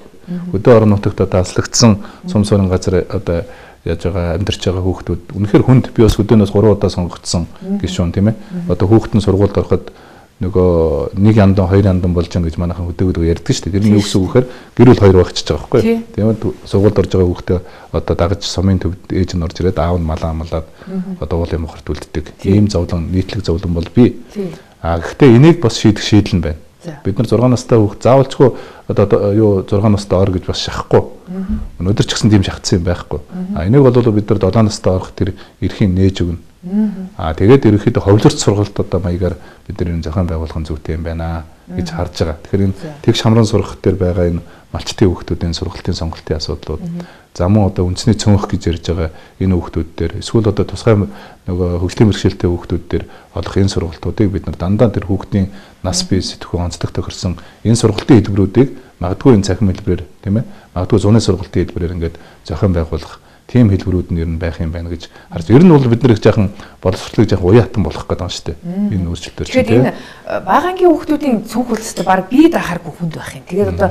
Өдөө орон нутагт одоо аслагдсан сум суурин газар одоо яаж байгаа амьдарч байгаа хүүхдүүд үнэхээр хүнд би бас өдөөнөөс 3 удаа сонгогдсон гişүүн тийм ээ. Одоо хүүхэд нь сургуульд ороход нөгөө 1 яндан 2 яндан болж байгаа гэж манайхан хөдөөгөө ярьдаг шүү дээ. Тэр нь юу гэсэн үг гэхээр гэр бүл 2 багчж байгаа байхгүй юу? Тийм ээ. Сургуульд орж байгаа хүүхдээ одоо дагаж сумын төвд ээж нь орж ирээд аав нь малаа амлаад одоо уулын мохорт үлддэг. Ийм зовлон, нийтлэг зовлон бол бий. Гэхдээ энийг бас шийдэх шийдэл нь байна. Бид нар 6 настай хүүхд заавалчгүй одоо юу 6 настай ор гэж бас шахахгүй. Өнөөдөр ч гэсэн тийм шахацсан юм байхгүй. Энийг бол бид нар 7 настай орох тэр эрхийн нээж өгнө. Тэгээд ерөнхийдөө ховлорч сургалтуудаа маягаар бид нар энэ зохион байгуулах нь зүйтэй юм байна гэж харж байгаа. Тэгэхээр энэ тэгш хамран сургах дээр байгаа энэ малчтын хүүхдүүдийн сургалтын сонголтын асуудлууд за мөн одоо үндэсний цөөнх гэж ярьж байгаа энэ хүүхдүүд дээр эсвэл одоо тусгай нөгөө хөгжлийн бэрхшээлтэй хүүхдүүд дээр олох энэ сургалтуудыг бид нар дандаа тэр хүүхдийн нас бие сэтгхүүн онцлог тохирсон энэ сургалтын хэлбэрүүдийг магадгүй энэ цахим хэлбэрээр тийм ээ магадгүй зуны сургалтын хэлбэрээр ингээд зохион байгуулах тийм хэлбэрүүд нь ер нь байх юм байна гэж харж. Ер нь бол бид нар их жаахан боловсролыг жаахан уяатан болох гэдэг юм шүү дээ. Энэ өөрчлөлтөөр чинь тийм. Багангийн хүүхдүүдийн цүнх үлстэй баг бие дахааргүй хүнд байх юм. Тэгээд одоо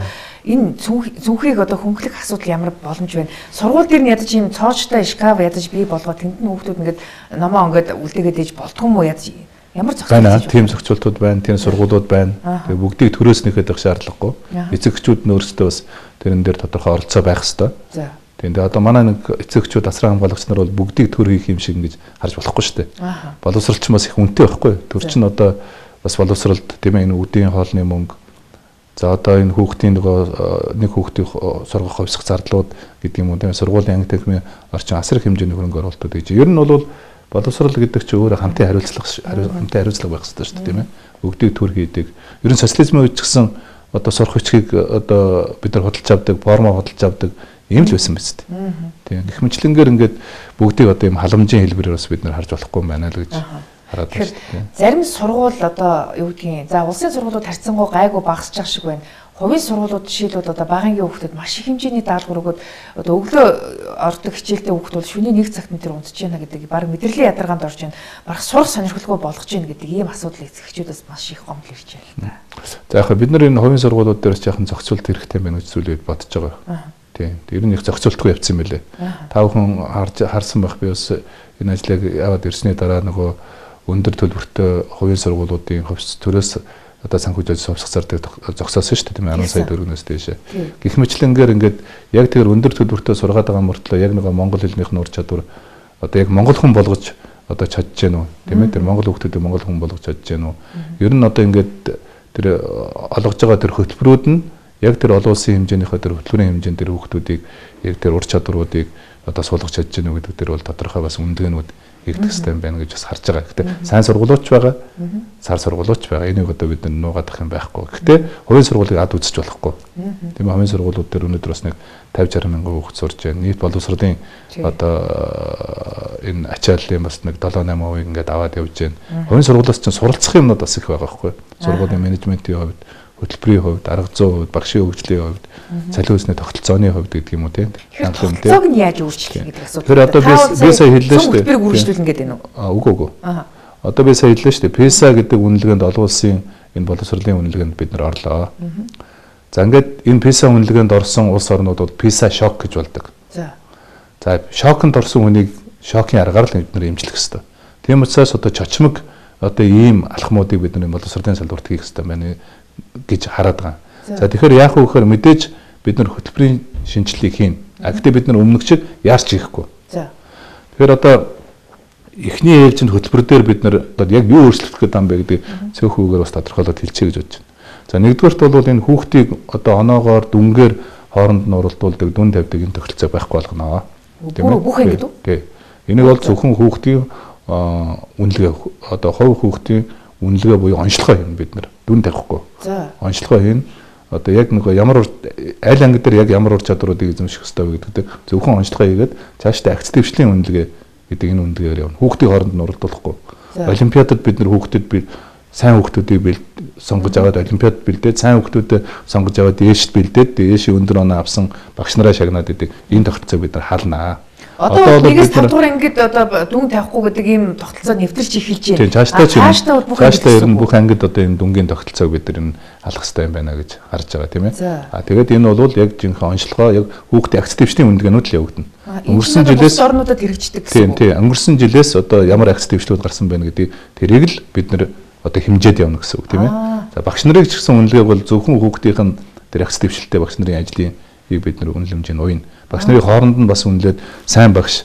энэ зүнхийг одоо хөнгөлөх асуудал ямар боломж байна? Сургууль дээр нь ядаж ийм цоочтой шкаф ядаж бий болгоод тэнд нь хүүхдүүд ингээд номоо ингээд үлдээгээд ээж болдгоо юм уу ядаж ямар зохицуулт байна? Тийм зохицуултууд байна, тийм сургуулиуд байна. Тэгээ бүгдийг төрөөснийхэд их шаардлагагүй. Эцэгчүүд нь өөрсдөө бас тэрэн дээр тодорхой оролцоо байх хэрэгтэй. За. Тэгээ одоо манай нэг эцэгчүүд асран хамгаалагч нар бол бүгдийг төр хийх юм шиг ингэж харж болохгүй шүү дээ. Боловсролч бас их үнэтэй байхгүй. Төр чинь одоо бас боловсролд тийм ээ энэ үдийн хоолны мөнгө. За одоо энэ хүүхдийн нэг хүүхдийн сургах хувьсах зардлууд гэдэг юм уу тийм сургуулийн анги техникийн орчин асар их хэмжээний хөрөнгө оруулалт гэж. Ер нь бол боловсрол гэдэг чинь өөрөө хамтын хариуцлага байх хэрэгтэй шүү дээ тийм ээ. Бүгдийг төр хийдэг. Ер нь социализмын үед ч гэсэн одоо сурах хүчгийг одоо бид нар худалдаж авдаг, формо худалдаж авдаг ийм л байсан биз дээ. Тийм. Их мэтлэнгээр ингээд бүгдийг одоо ийм халамжийн хэлбэрээр бас бид нар харж болохгүй юм байна л гэж хараад байна шүү дээ. Зарим сургууль одоо юу гэдгийг за улсын сургуулиуд харьцангуй гайгүй багасч байгаа шиг байна. Хувийн сургуулиуд жишээлбэл одоо багангийн хүүхдүүд маш их хэмжээний даалгавар өгөөд одоо өглөө ордог хичээлтэй хүүхдүүд шөнийн 1 цагт тэр унтж байна гэдэг баг мэдрэлийн ядаргаанд орж байна. Баг сурах сонирхолгүй болгож байна гэдэг ийм асуудлыг эцэгчүүдээс маш их гомдол ирж байна. За яг бид нар энэ хувийн сургуулиуд дээр ч яхан зохицуулт хэрэгтэй байна гэж зүйлээ бодож байгаа. Тийм. Ер нь их зохицуултгүй явцсан мөлий. Та бүхэн харсан байх би бас энэ ажлыг яваад ирсний дараа нөгөө өндөр төлбөртэй хувийн сургуулиудын хувьс төрөөс одоо санхүүжилт совсох зардыг зогсоосон шүү дээ тийм 10 сая төгрөгнөөс дээш. Гэх мэтлэнгээр ингээд яг тэр өндөр төлбөртэй сургаад байгаа мөртлөө яг нэг монгол хэлнийх нь ур чадвар одоо яг монгол хүн болгож одоо чадж гэнэ үү тийм ээ тэр монгол хүүхдүүдийг монгол хүн болгож чадж гэнэ үү. Ер нь одоо ингээд тэр олгож байгаа тэр хөтөлбөрүүд нь яг тэр олон улсын хэмжээнийхээ тэр хөтөлбөрийн хэмжээнд тэр хүүхдүүдийг яг тэр ур чадваруудыг одоо суулгаж чадж гэнэ үү гэдэг тэр бол тодорхой бас үндээгнүүд ирдэг систем байна гэж бас харж байгаа. Гэхдээ сайн сургуулиуч байгаа, сар сургуулиуч байгаа. Энийг одоо бид нуугаадах юм байхгүй. Гэхдээ хувийн сургуулийг ад үзэж болохгүй. Тийм хувийн сургуулиуд дээр өнөөдөр бас нэг 50-60 мянган хүүхэд сурж байна. Нийт боловсролын одоо энэ ачааллын бас нэг 7-8% ингээд аваад явж байна. Хувийн сургуулиас чинь суралцах юмнууд бас их байгаа байхгүй. Сургуулийн менежментийн хувьд, хөтөлбөрийн хувьд, арга зүйн хувьд, багшийн хөгжлийн хувьд, цалин хөөсний тогтолцооны хувьд гэдэг юм уу тийм. Тогтолцоог нь яаж өөрчлөх гэдэг асуудал. Тэр одоо би сая хэллээ шүү дээ. Хөтөлбөрийг үргэлжлүүлнэ гэдэг нь үү? Үгүй. Одоо би сая хэллээ шүү дээ. PISA гэдэг үнэлгээнд олон улсын энэ боловсролын үнэлгээнд бид нар орлоо. За ингээд энэ PISA үнэлгээнд орсон улс орнууд бол PISA шок гэж болдог. За шоконд орсон хүнийг шокийн аргаар л бид нар эмчлэх хэрэгтэй. Тийм учраас одоо чочмог одоо ийм алхмуудыг бид нар боловсролын салбарт хийх хэрэгтэй байна гэж хараад байгаа. За тэгэхээр яах вэ гэхээр мэдээж бид нар хөтөлбөрийн шинжилгээг хийн. Гэхдээ бид нар өмнөх шиг яарч хийхгүй. За. Тэгэхээр одоо эхний ээлжинд хөтөлбөр дээр бид нар одоо яг юу өөрчлөх гэдэг юм бэ гэдэг цөөхөөгөр бас тодорхойлоод хэлчихье гэж бодож байна. За нэгдүгээрт бол энэ хүүхдийг одоо оноогоор дүнгээр хооронд нь уралдуулдаг, дүн тавьдаг энэ тогтолцоо байхгүй болгоно. Тийм үү? Бүх ингэ дүү? Тий. Энийг бол зөвхөн хүүхдийн үнэлгээ одоо хувь хүүхдийн үнэлгээ буюу онцлогоо хийн бид нар дүн тавихгүй. За. Онцлогоо хийн. Одоо яг нэг ямар аль анги дээр яг ямар ур чадваруудыг эзэмших ёстой вэ гэдэг зөвхөн онцлогоо хийгээд цаашдаа акц дэвшлийн үнэлгээ гэдэг энэ үнэлгээгээр явна. Хүүхдийн хооронд нь уралдуулахгүй. Олимпиадад бид нар хүүхдэд сайн хүүхдүүдийг сонгож аваад олимпиад бэлдээд сайн хүүхдүүдэд сонгож аваад дээшд бэлдээд дээшийн өндөр оноо авсан багш нараа шагнаад идэг. Энэ тогтолцоо бид нар хаалнаа. Одоо нэгээс 5 дугаар ангид одоо дүн тавихгүй гэдэг ийм тогтолцоо нэвтэрч эхэлж байна. Тийм цаашдаа ер нь бүх ангид одоо энэ дүнгийн тогтолцоог бид нар алах хэрэгтэй юм байна гэж харж байгаа тийм ээ. Тэгээд энэ бол яг жинхэнэ онцлогоо яг хүүхдийн акц дэвшлийн үнэлгээнүүд л явагдана. Өнгөрсөн жилээс орнуудад хэрэгждэг Тийм гэсэн. өнгөрсөн жилээс одоо ямар акц дэвшлүүд гарсан байна гэдэг тэрийг л бид нар одоо хэмжээд явна гэсэн үг тийм ээ. За багш нарыг ч гэсэн үнэлгээ бол зөвхөн хүүхдийнх нь тэр акц дэвшилтэй багш нарын ажлыг бид нар үнэлэмжийн уйна. Багш нарын хооронд нь бас үнэлээд сайн багш,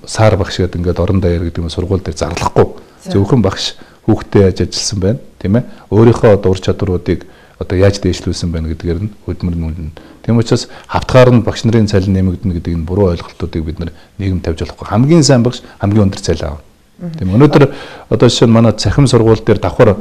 сар багш гэдэг ингээд орон даяар гэдэг нь сургууль дээр зарлахгүй. Зөвхөн багш хүүхдэд яаж ажилласан байна, тийм ээ. Өөрийнхөө одоо ур чадваруудыг одоо яаж дээшлүүлсэн байна гэдгээр нь хөдөлмөр нь. Тийм учраас хавтгаар нь багш нарын цалин нэмэгдэнэ гэдэг энэ буруу ойлголтуудыг бид нар нийгэм тавьж болохгүй. Хамгийн сайн багш хамгийн өндөр цалин авна. Тийм өнөөдөр одоо жишээ нь манай цахим сургууль дээр давхар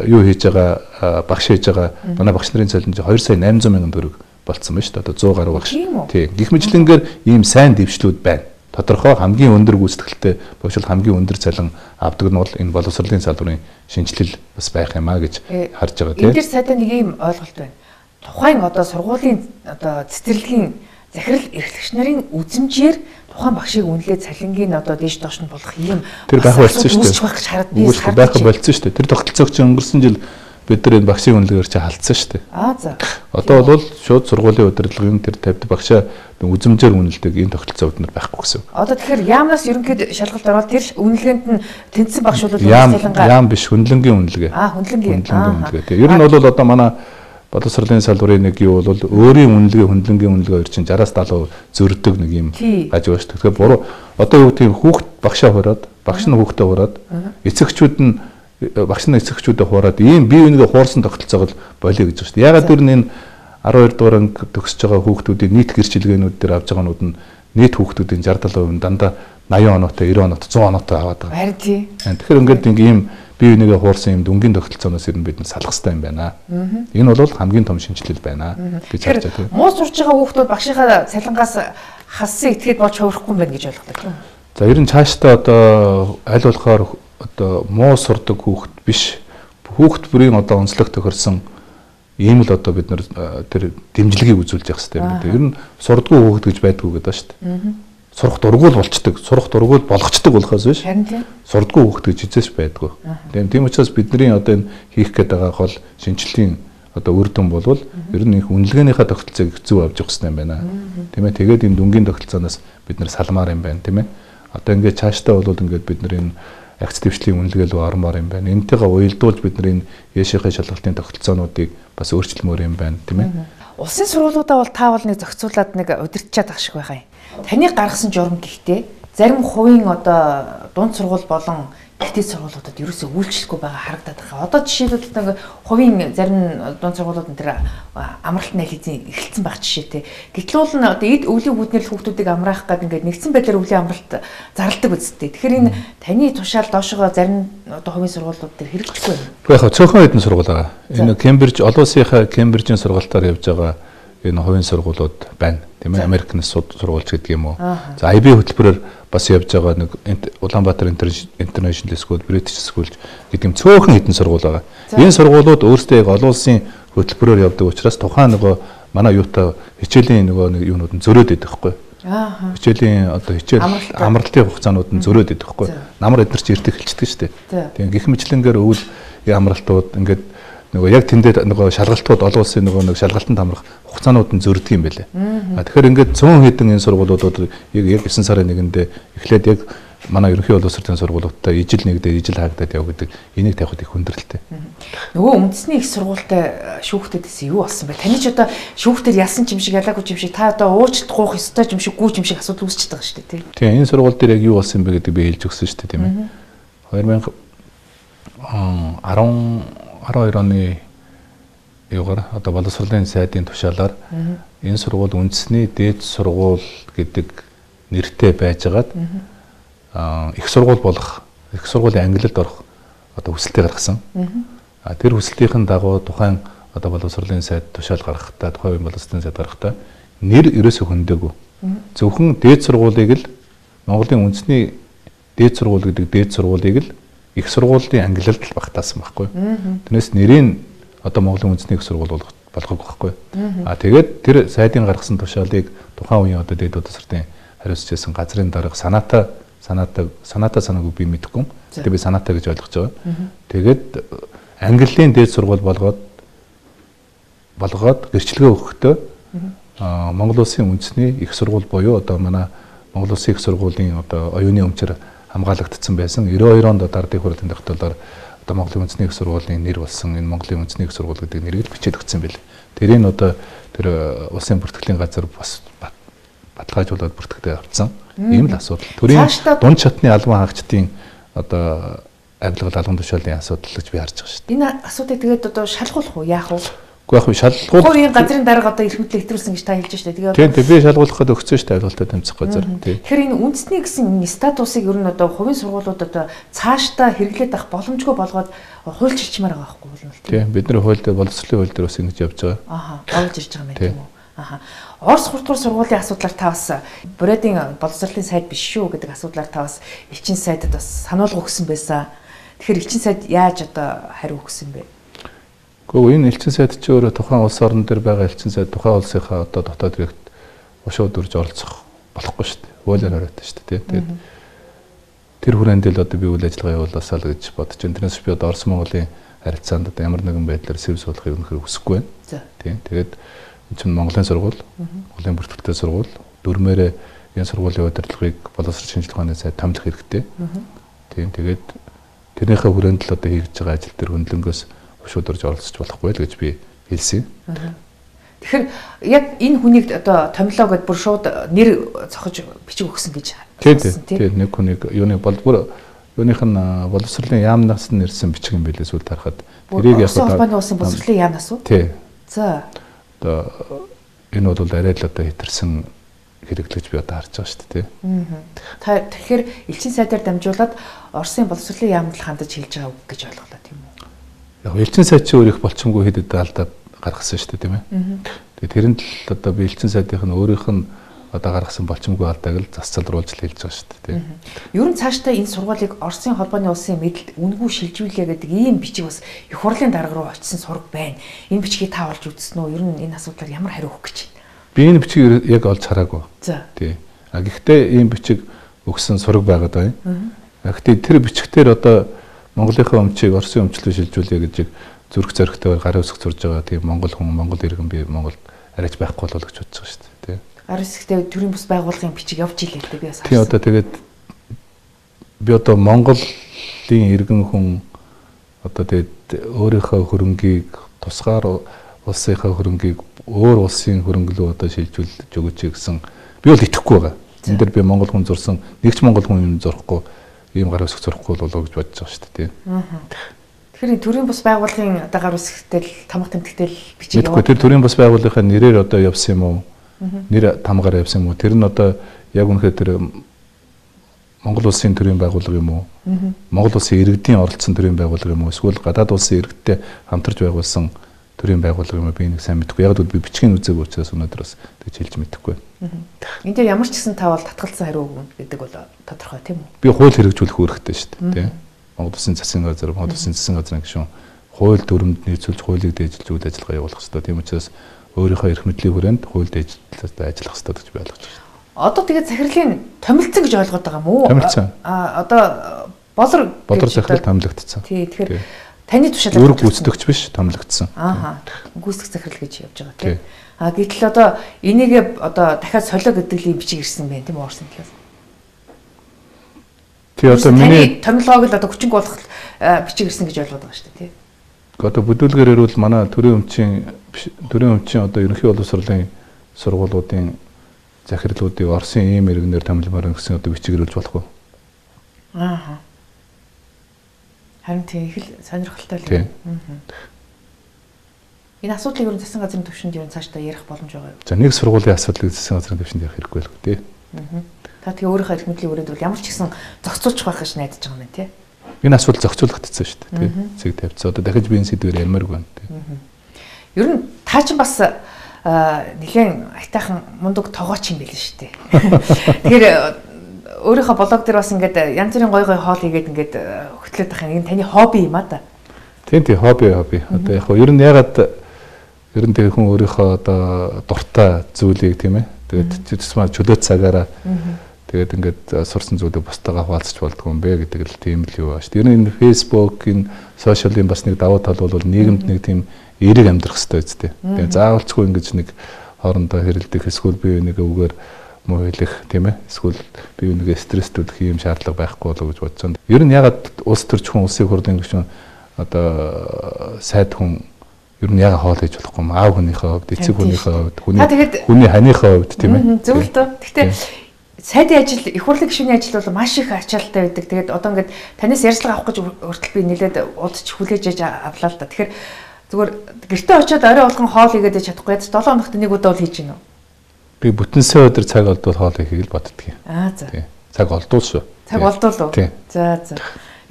юу хийж байгаа багш хийж байгаа манай багш нарын цалин 2 сая 800 мянган төгрөг болцсон байна шүү дээ. Одоо 100 гаруй багш. Тийм. Гэх мэтлэнгээр ийм сайн дэвшлүүд байна. Тодорхой хамгийн өндөр гүйцэтгэлтэй багш бол хамгийн өндөр цалин авдаг нь бол энэ боловсролын салбарын шинжилэл бас байх юмаа гэж харж байгаа тийм. Энэ дэр сайдаа нэг ийм ойлголт байна. Тухайн одоо сургуулийн одоо цэцэрлэгийн захирал эрхлэгч нарын үзмжээр тухайн багшийг үнэлээ цалингийн одоо дээш доош нь болох юм тэр байх болсон шүү дээ. Үүсч байх гэж хараад би байх болсон шүү дээ. Тэр тогтолцоог чинь өнгөрсөн жил бид нар энэ багшийн үнэлгээр чи халтсан шүү дээ. За. Одоо бол шууд сургуулийн удирдлагын тэр тавьд багшаа үзмжээр үнэлдэг энэ тогтолцоо бид нар байхгүй гэсэн. Одоо тэгэхээр яамнаас ерөнхийд шалгалт ороод тэр үнэлгээнд нь тэнцсэн багш бол яам биш хүнлэнгийн үнэлгээ. Хүнлэнгийн үнэлгээ. Тэгээ ер нь бол одоо манай боловсролын салбарын нэг юу бол өөрийн үнэлгээ хүнлэнгийн үнэлгээ хоёр чинь 60-70% зөрдөг нэг юм гаж байна шүү. Тэгэхээр буруу одоо юу гэдэг хүүхд багшаа хураад багш нь хүүхдээ хураад эцэгчүүд нь багш нь эцэгчүүдэд хураад ийм бие биенээ хуурсан тогтолцоог болиё гэж байна шүү. Ягаад гэвэл энэ 12 дугаар анги төгсөж байгаа хүүхдүүдийн нийт гэрчилгээнүүд дээр авж байгаа нууд нь нийт хүүхдүүдийн 60-70% дандаа 80 оноотой 90 оноотой 100 оноотой аваад байгаа. Харин тий. Тэгэхээр ингээд ийм бие биенээ хуурсан юм дүнгийн тогтолцооноос ер нь бид салах хэрэгтэй юм байна. Энэ бол хамгийн том шинжилэл байна гэж харж байна. Муу сурж байгаа хүүхдүүд багшийнхаа цалингаас хассан этгээд болж хувирахгүй юм байна гэж ойлгодог. За ер нь цаашдаа одоо аль болохоор одоо муу сурдаг хүүхд биш хүүхд бүрийн одоо онцлог тохирсон ийм л одоо бид нар тэр дэмжлэгийг үзүүлж явах хэрэгтэй юм дээ. Ер нь сурдаггүй хүүхд гэж байдгүй гэдэг шүү дээ. Сурах дургуул болчдөг, сурах дургуул болгочдөг болохоос биш. Сурдаггүй хүүхд гэж хизээш байдгүй. Тийм учраас бидний одоо энэ хийх гээд байгаа гол шинжилгээний одоо үр дүн болвол ер нь их үнэлгээнийхээ тогтолцоог зөв авч явах хэрэгтэй юм байна. Тийм ээ. Тэгээд энэ дүнгийн тогтолцооноос бид нар салмаар юм байна, тийм ээ. Одоо ингээд цаашдаа бол ингээд бид нар энэ агц дэвшлийн үнэлгээ рүү ормоор юм байна. Энтэйгээ уялдуулж бид нар энэ яшийнхаа шалгалтын тогтолцоонуудыг бас өөрчилмөр юм байна, тийм ээ. Улсын сургуулиудаа бол та бол нэг зохицуулаад нэг удирдчаад ах шиг байгаа юм. Таны гаргасан журам гэхдээ зарим хувийн одоо дунд сургууль болон ихтэй сургуулиудад ерөөсөө үйлчлэхгүй байгаа харагдаад байгаа. Одоо жишээлбэл нэг хувийн зарим дунд сургуулиуд энэ амралт нэлээзэн эхэлсэн байх жишээтэй. Гэтэл бол одоо эд өвлийн үүднэр хүүхдүүдийг амраах гэдэг ингээд нэгдсэн байдлаар өвлийн амралт зарладаг үсттэй. Тэгэхээр энэ таны тушаал доошогоо зарим одоо хувийн сургуулиуд төр хэрэгжихгүй юм. Яг цөөхөн хэдэн сургууль байгаа. Энэ Кембриж олон улсынхаа Кембрижийн сургалтаар явж байгаа энэ хувийн сургуулиуд байна. Тийм ээ. Америкнаас сургууль гэдэг юм уу. За IB хөтөлбөрөөр бас явж байгаа нэг Улаанбаатар International School, British School гэдэг юм цөөхөн хэдэн сургууль байгаа. Энэ сургуулиуд өөрсдөө яг олон улсын хөтөлбөрөөр явдаг учраас тухайн нөгөө манай юутай хичээлийн нөгөө юунууд нь зөрөөд идэх байхгүй. Хичээлийн одоо хичээл амралтын хугацаанууд нь зөрөөд идэх байхгүй. Намар эднэр ч ирдэг хэлчихдэг шүү дээ. Тийм гэх мэтлэнгээр өвөл амралтууд ингээд нөгөө яг тэндээ нөгөө шалгалтууд олон улсын нөгөө нэг шалгалтанд амрах хугацаанууд нь зөрдөг юм байлээ. Тэгэхээр ингээд 100 хэдэн энэ сургуулиудад яг 9 сарын 1-нд эхлээд яг манай ерөнхий боловсролын сургуулиудтай ижил нэгдээд ижил хаагдаад яв гэдэг энийг тавихад их хүндрэлтэй. Нөгөө үндэсний их сургуультай шүүхтэйгээс юу болсон бэ? Таны ч одоо шүүхтэр ялсан ч юм шиг ялаагүй ч юм шиг та одоо уучлалт гуйх ёстой ч юм шиг гүү ч юм шиг асуудал үүсчихэж байгаа шүү дээ, тийм. Энэ сургууль дээр яг юу болсон бэ гэдэг би хэлж өгсөн шүү дээ, тийм ээ. 2012 оны юугаар одоо боловсролын сайдын тушаалаар энэ сургууль үндэсний дээд сургууль гэдэг нэртэй байжгаад их сургууль болох, их сургуулийн ангилалд орох одоо хүсэлтээ гаргасан. Тэр хүсэлтийн дагуу тухайн одоо боловсролын сайд тушаал гаргахтаа, тухайн боловсролын сайд гаргахтаа нэр ерөөсөө хөндөөгүй. Зөвхөн дээд сургуулийг л Монголын үндэсний дээд сургууль гэдэг дээд сургуулийг л их сургуулийн ангилалд л багтаасан байхгүй. Тэрнээс нэрийн одоо Монголын үндэсний их сургууль болгох байхгүй. Тэгээд тэр сайдын гаргасан тушаалыг тухайн үеийн одоо дээд боловсролын хариуцж байсан газрын дарга санаатай санаагүй би мэдэхгүй. Тэгээд би санаатай гэж ойлгож байгаа. Тэгээд ангиллын дээд сургууль болгоод гэрчлэгээ өгөхдөө Монгол улсын үндэсний их сургууль буюу одоо манай Монгол улсын их сургуулийн одоо оюуны өмчөр хамгаалагдсан байсан 92 онд дардыг хурлын тогтоолоор одоо Монголын үндэсний их сургуулийн нэр болсон энэ Монголын үндэсний их сургууль гэдэг нэрийг бичээд өгсөн байл. Тэрийг одоо тэр улсын бүртгэлийн газар бас баталгаажуулаад бүртгэдэг авцсан. Ийм л асуудал. Төрийн дунд шатны албан хаагчдын одоо авилгал албан тушаалын асуудал гэж би харж байгаа шүү дээ. Энэ асуудыг тэгээд одоо шалгуулах уу, яах вэ? Гэхдээ яг шалгуул. Хувийн газрын дарга одоо эрх мэдлийг хэтрүүлсэн гэж та хэлж штэ. Тэгээд тийм би шалгуулахад өгсөн штэ авилгалтай тэмцэх газар. Тэгэхээр энэ үндэсний гэсэн статусыг ер нь одоо хувийн сургуулиуд одоо цаашдаа хэрэглээд авах боломжгүй болгоод хуульч ирчмээр байгаа байхгүй юу? Тийм бид нар хууль дээр боловсролын хууль дээр бас ингэж явж байгаа. Болж ирж байгаа юм тийм үү? Орос хурдгуур сургуулийн асуудлаар та бас Бродын боловсролын сайд биш шүү гэдэг асуудлаар та бас элчин сайдад бас сануулга өгсөн байсан. Тэгэхээр элчин сайд яаж одоо хариу өгсөн бэ? Гэхдээ энэ элчин сайд чи өөрөө тухайн улс орн дээр байгаа элчин сайд тухайн улсынхаа одоо дотоод иргэд ушууд үрж оролцох болохгүй шүү дээ. Хуулиар хариутай шүү дээ. Тэгээд тэр хүрээнд л одоо би үйл ажиллагаа явуулаасаа л гэж бодож байна. Тэрнээс би одоо Орос Монголын харилцаанд одоо ямар нэгэн байдлаар сэв суулгахыг өнөхөр хүсэхгүй байна. Тийм. Тэгээд энэ чинь Монголын сургууль, Монголын бүртгүүлтэй сургууль, дөрмээрээ энэ сургуулийн удирдлагыг боловсрол шинжилгээ ухааны сайд томлох хэрэгтэй. Тийм. Тэгээд тэрнийхээ хүрээнд л одоо хийж байгаа ажил дээр хөндлөнгөөс шууд орж оролцож болохгүй л гэж би хэлсэн. Тэгэхээр яг энэ хүнийг одоо томилоо гэд бүр шууд нэр цохож бичиг өгсөн гэж хэлсэн тийм. Нэг хүнийг юуны бүр юуных нь боловсролын яамнаас нэрсэн бичиг юм билээ сүүл тарахад тэрийг яг одоо боловсролын яамнаас уу? Тийм. За. Одоо энэ бол арай л одоо хэтэрсэн хэрэглэж би одоо харж байгаа шүү дээ. Та тэгэхээр элчин сайдаар дамжуулаад Оросын боловсролын яамд хандаж хэлж байгаа үг гэж ойлголоо тийм үү? Яг элчин сайд чи өөрийнх болчмгүй хэдэд алдаад гаргасан шүү дээ тийм ээ. Тэгээд тэрэнд л одоо би элчин сайдынх нь өөрийнх нь одоо гаргасан болчмгүй алдааг л засцалруулж л хэлж байгаа шүү дээ тийм. Ер нь цаашдаа энэ сургуулийг Оросын холбооны улсын мэдэлд үнгүй шилжүүлээ гэдэг ийм бичиг бас их хурлын дарга руу очисон сураг байна. Энэ бичгийг та олж үзсэн үү? Ер нь энэ асуудлаар ямар хариу өгөх гэж байна? Би энэ бичгийг яг олж хараагүй. За. Тий. Гэхдээ ийм бичиг өгсөн сураг байгаад байна. Гэхдээ тэр бичгтэр одоо Монголынхаа өмчийг Оросын өмчлөө шилжүүлээ гэж зүрх зоригтой гарын үсэг зурж байгаа тийм Монгол хүн Монгол иргэн би Монголд арайч байхгүй болов гэж бодож байгаа шүү дээ. Тий. Гарын үсэгтэй төрийн бас байгууллагын бичиг явж илээ л дээ би бас. Тий одоо тэгээд би одоо Монголын иргэн хүн одоо тэгээд өөрийнхөө хөрөнгийг тусгаар улсынхаа хөрөнгийг өөр улсын хөрөнгөлөө одоо шилжүүлж өгөөч гэсэн би бол итгэхгүй байгаа. Энд дэр би Монгол хүн зурсан нэгч Монгол хүн юм зурхгүй ийм гар үсэг зурхгүй болоо гэж бодож байгаа шүү дээ. Тэгэхээр төрийн бас байгууллагын одоо гар үсэгтэй тамга тэмдэгтэй бичиг явуулдаг. Тэр төрийн бас байгууллагынхаа нэрээр одоо явсан юм уу? Нэр тамгаар явсан юм уу? Тэр нь одоо яг үнэхээр тэр Монгол улсын төрийн байгууллага юм уу? Монгол улсын иргэдийн оролцсон төрийн байгууллага юм уу? Эсвэл гадаад улсын иргэдтэй хамтарч байгуулсан төрийн байгууллага юм би нэг сайн мэдэхгүй. Яг л би бичгийн үзег учраас өнөөдөр бас тэгж хэлж мэдэхгүй. Энд дээр ямар ч гэсэн та бол татгалзсан хариу өгнө гэдэг бол тодорхой тийм үү? Би хууль хэрэгжүүлэх үүрэгтэй шүү дээ. Монгол Улсын засгийн газар, Монгол Улсын засгийн газрын гишүүн хууль дүрмэнд нийцүүлж хуулийг дээжилж үйл ажиллагаа явуулах хэрэгтэй. Тийм учраас өөрийнхөө эрх мэдлийн хүрээнд хууль дээжилэлд ажиллах хэрэгтэй гэж би ойлгож байна. Одоо тэгээд захирлын томилцсон гэж ойлгоод байгаа юм уу? Томилцсон. Одоо болор захирал томилогдсон. Тий, тэгэхээр таны тушаалаар үүрэг гүйцэтгэгч биш, томилогдсон. Гүйцэтгэх захирал гэж явж байгаа тийм. Гэтэл одоо энийгээ одоо дахиад солио гэдэг л бичиг ирсэн байна тийм үү Оросын талаас. Тий одоо миний томилгоог л одоо хүчинг болох бичиг ирсэн гэж ойлгоод байгаа шүү дээ тий. Одоо бүдүүлгээр ирвэл манай төрийн өмчийн одоо ерөнхий боловсролын сургуулиудын захирлуудыг Оросын ийм иргэнээр томилмоор гэсэн одоо бичиг ирүүлж болох уу? Харин тийм их л сонирхолтой л юм. Энэ асуудлыг ер нь засгийн газрын түвшинд ер нь цаашдаа ярих боломж байгаа юу? За нэг сургуулийн асуудлыг засгийн газрын түвшинд ярих хэрэггүй л дээ. Та тэгээ өөрийнхөө эрх мэдлийн өрөөнд бол ямар ч гэсэн зохицуулчих байх гэж найдаж байгаа юм тий. Энэ асуудал зохицуулагдсан шүү дээ тий. Цэг тавьцаа одоо дахиж би энэ сэдвээр ярмааргүй байна тий. Ер нь та ч бас нэгэн айтайхан мундаг тогооч юм байл шүү дээ. Тэгэхээр өөрийнхөө блог дээр бас ингээд янз бүрийн гой хоол хийгээд ингээд хөтлөд байгаа юм. Таны хобби юм а та. Тийм хобби. Одоо яг ер нь ягаад ер нь тэг хүн өөрийнхөө одоо дуртай зүйлийг тийм ээ. Тэгээд тусмаа чөлөө цагаараа тэгээд ингээд сурсан зүйлийг бусдаагаа хуваалцах болдгоо юм бэ гэдэг л тийм л юу ба шүү. Ер нь энэ Facebook, энэ сошиалын бас нэг давуу тал бол нийгэмд нэг тийм эерэг амьдрах хэрэгтэй үстэй. Тэгээд заавалчгүй ингэж нэг хоорондоо хэрэлдэх эсвэл бие бинийгээ үгээр муу хэлэх тийм ээ. Эсвэл бие бинийгээ стресстүүлэх юм шаардлага байхгүй болоо гэж бодсон. Ер нь ягаад улс төрч хүн улсын хурлын гишүүн одоо сайд хүн ер нь яга хоол хийж болохгүй юм аав хүнийхээ хувьд эцэг хүнийхээ хувьд хүний ханыхаа хувьд тийм ээ зөв л дөө. Гэхдээ сайдын ажил их хурлын гишүүний ажил бол маш их ачаалттай байдаг. Тэгээд одоо ингээд танаас ярьцлага авах гэж хүртэл би нэлээд удаж хүлээж аж авлаа л да. Тэгэхээр зүгээр гэртээ очиод орой болгон хоол хийгээд чадахгүй. 7 хоногт нэг удаа бол хийж гинөө. Би бүтэнсээ өдөр цаг олдвол хоол хийхийг л боддгийг. За. Цаг олдвол шүү. Цаг олдвол уу? За.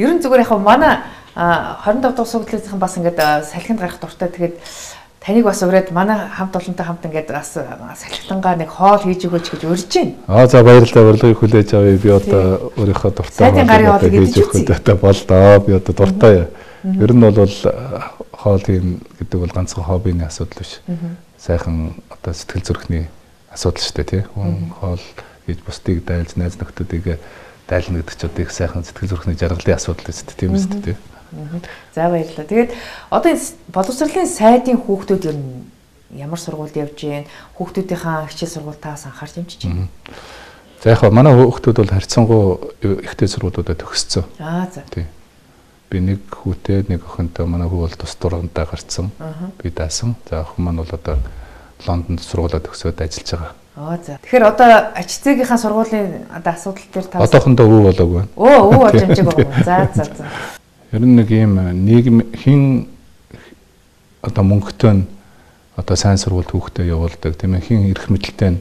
Ер нь зүгээр яг манай 25 дахь суглалынхан бас ингээд салхинд гарах дуртай. Тэгээд таныг бас ураад манай хамт олонтой хамт ингээд бас салхилангаа нэг хоол хийж өгөөч гэж урьж байна. За баярлалаа урилгыг хүлээж авъя. Би одоо өөрийнхөө дуртай хоол хийж өгөхөд одоо болдоо. Би одоо дуртай. Ер нь бол хоол хийн гэдэг бол ганцхан хоббины асуудал биш. Сайхан одоо сэтгэл зүрхний асуудал шүү дээ тий. Хүн хоол хийж бусдыг дайлж найз нөхдүүдийг дайлна гэдэг чинь одоо их сайхан сэтгэл зүрхний жаргалын асуудал шүү дээ. Тийм үстэй тий. За баярлалаа. Тэгээд одоо энэ боловсролын сайдын хүүхдүүд ер нь ямар сургуульд явж гин хүүхдүүдийнхаа хичээл сургуультаас анхаарч юмчиж байна. За яг манай хүүхдүүд бол харьцангуй ихтэй сургуулиудад төгссөн. За. Тий. Би нэг хүүтэй нэг охинтой манай хүү бол тус дургандаа гарцсан. Би даасан. За охин маань бол одоо Лондонд сургуулаад төгсөөд ажиллаж байгаа. За. Тэгэхээр одоо ачцэгийнхаа сургуулийн одоо асуудал дээр та одоохондоо өвөө болоогүй байна. Өвөө болж амжаагүй байна. За. Ер нь нэг юм нийгэм хин одоо мөнгөтэй одоо сайн сургуульд хүүхдээ явуулдаг тийм ээ, хин эрх мэдэлтэй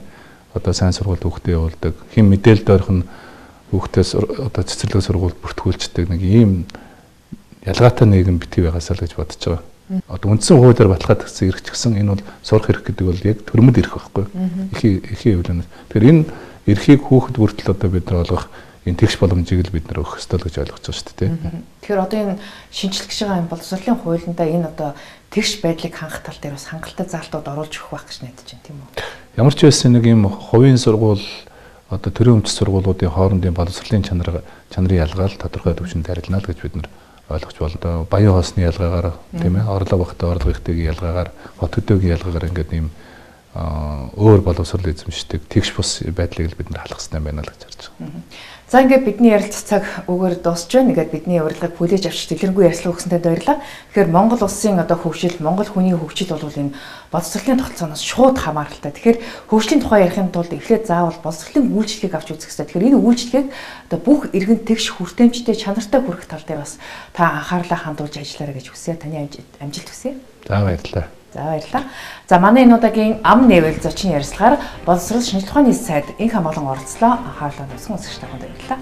одоо сайн сургуульд хүүхдээ явуулдаг, хин мэдээлэл дөрөх нь хүүхдээс одоо цэцэрлэг сургуульд бүртгүүлждэг нэг ийм ялгаатай нийгэм битгий байгаасаа л гэж бодож байгаа. Одоо үндсэн хуулиар баталгаад өгсөн эрх ч гэсэн энэ бол сурах эрх гэдэг бол яг төрөмд эрх байхгүй. Эхийн хөвлөнөөс. Тэгэхээр энэ эрхийг хүүхэд бүртэл одоо бид нар олгох энэ тэгш боломжийг л бид нар өгөх ёстой л гэж ойлгож байгаа шүү дээ. Тэгэхээр одоо энэ шинжлэх гэж байгаа энэ боловсролын хуулиндаа энэ одоо тэгш байдлыг хангах тал дээр бас хангалттай заалтууд оруулж өгөх байх гэж найдаж байна тийм үү? Ямар ч байсан нэг юм хувийн сургууль одоо төрийн өмч сургуулиудын хоорондын боловсролын чанарын ялгаал тодорхой төвшөнд тарилна л гэж бид нар ойлгож байна. Баян хоосны ялгаагаар тийм ээ, орлого багтаа орлого ихтэйгийн ялгаагаар, хот хөдөөгийн ялгаагаар ингээд ийм өөр боловсрол эзэмшдэг тэгш бус байдлыг л бид нар халах хэрэгтэй байна л гэж харж байгаа. За ингээд бидний ярилцах цаг өгөр дуусч байна. Ингээд бидний урилгыг хүлээж авч дэлгэрэнгүй ярилцлага өгсөнтэй баярлалаа. Тэгэхээр Монгол улсын одоо хөгжил, Монгол хүний хөгжил бол энэ боловсролын тогтолцооноос шууд хамааралтай. Тэгэхээр хөгжлийн тухай ярихын тулд эхлээд заавал боловсролын үйлчлэгийг авч үзэх хэрэгтэй. Тэгэхээр энэ үйлчлэгийг одоо бүх иргэн тэгш хүртээмжтэй чанартай хүрэх тал дээр бас та анхаарлаа хандуулж ажиллаарай гэж хүсье. Таны амжилт хүсье. За баярлалаа. За баярлалаа. За манай энэ удаагийн ам нэвэл зочин ярилцлагаар боловсрол шинжилгээ ухааны сайд инх хамгаалан оролцлоо. Анхаарлаа тавьсан үзэгч танд баярлалаа.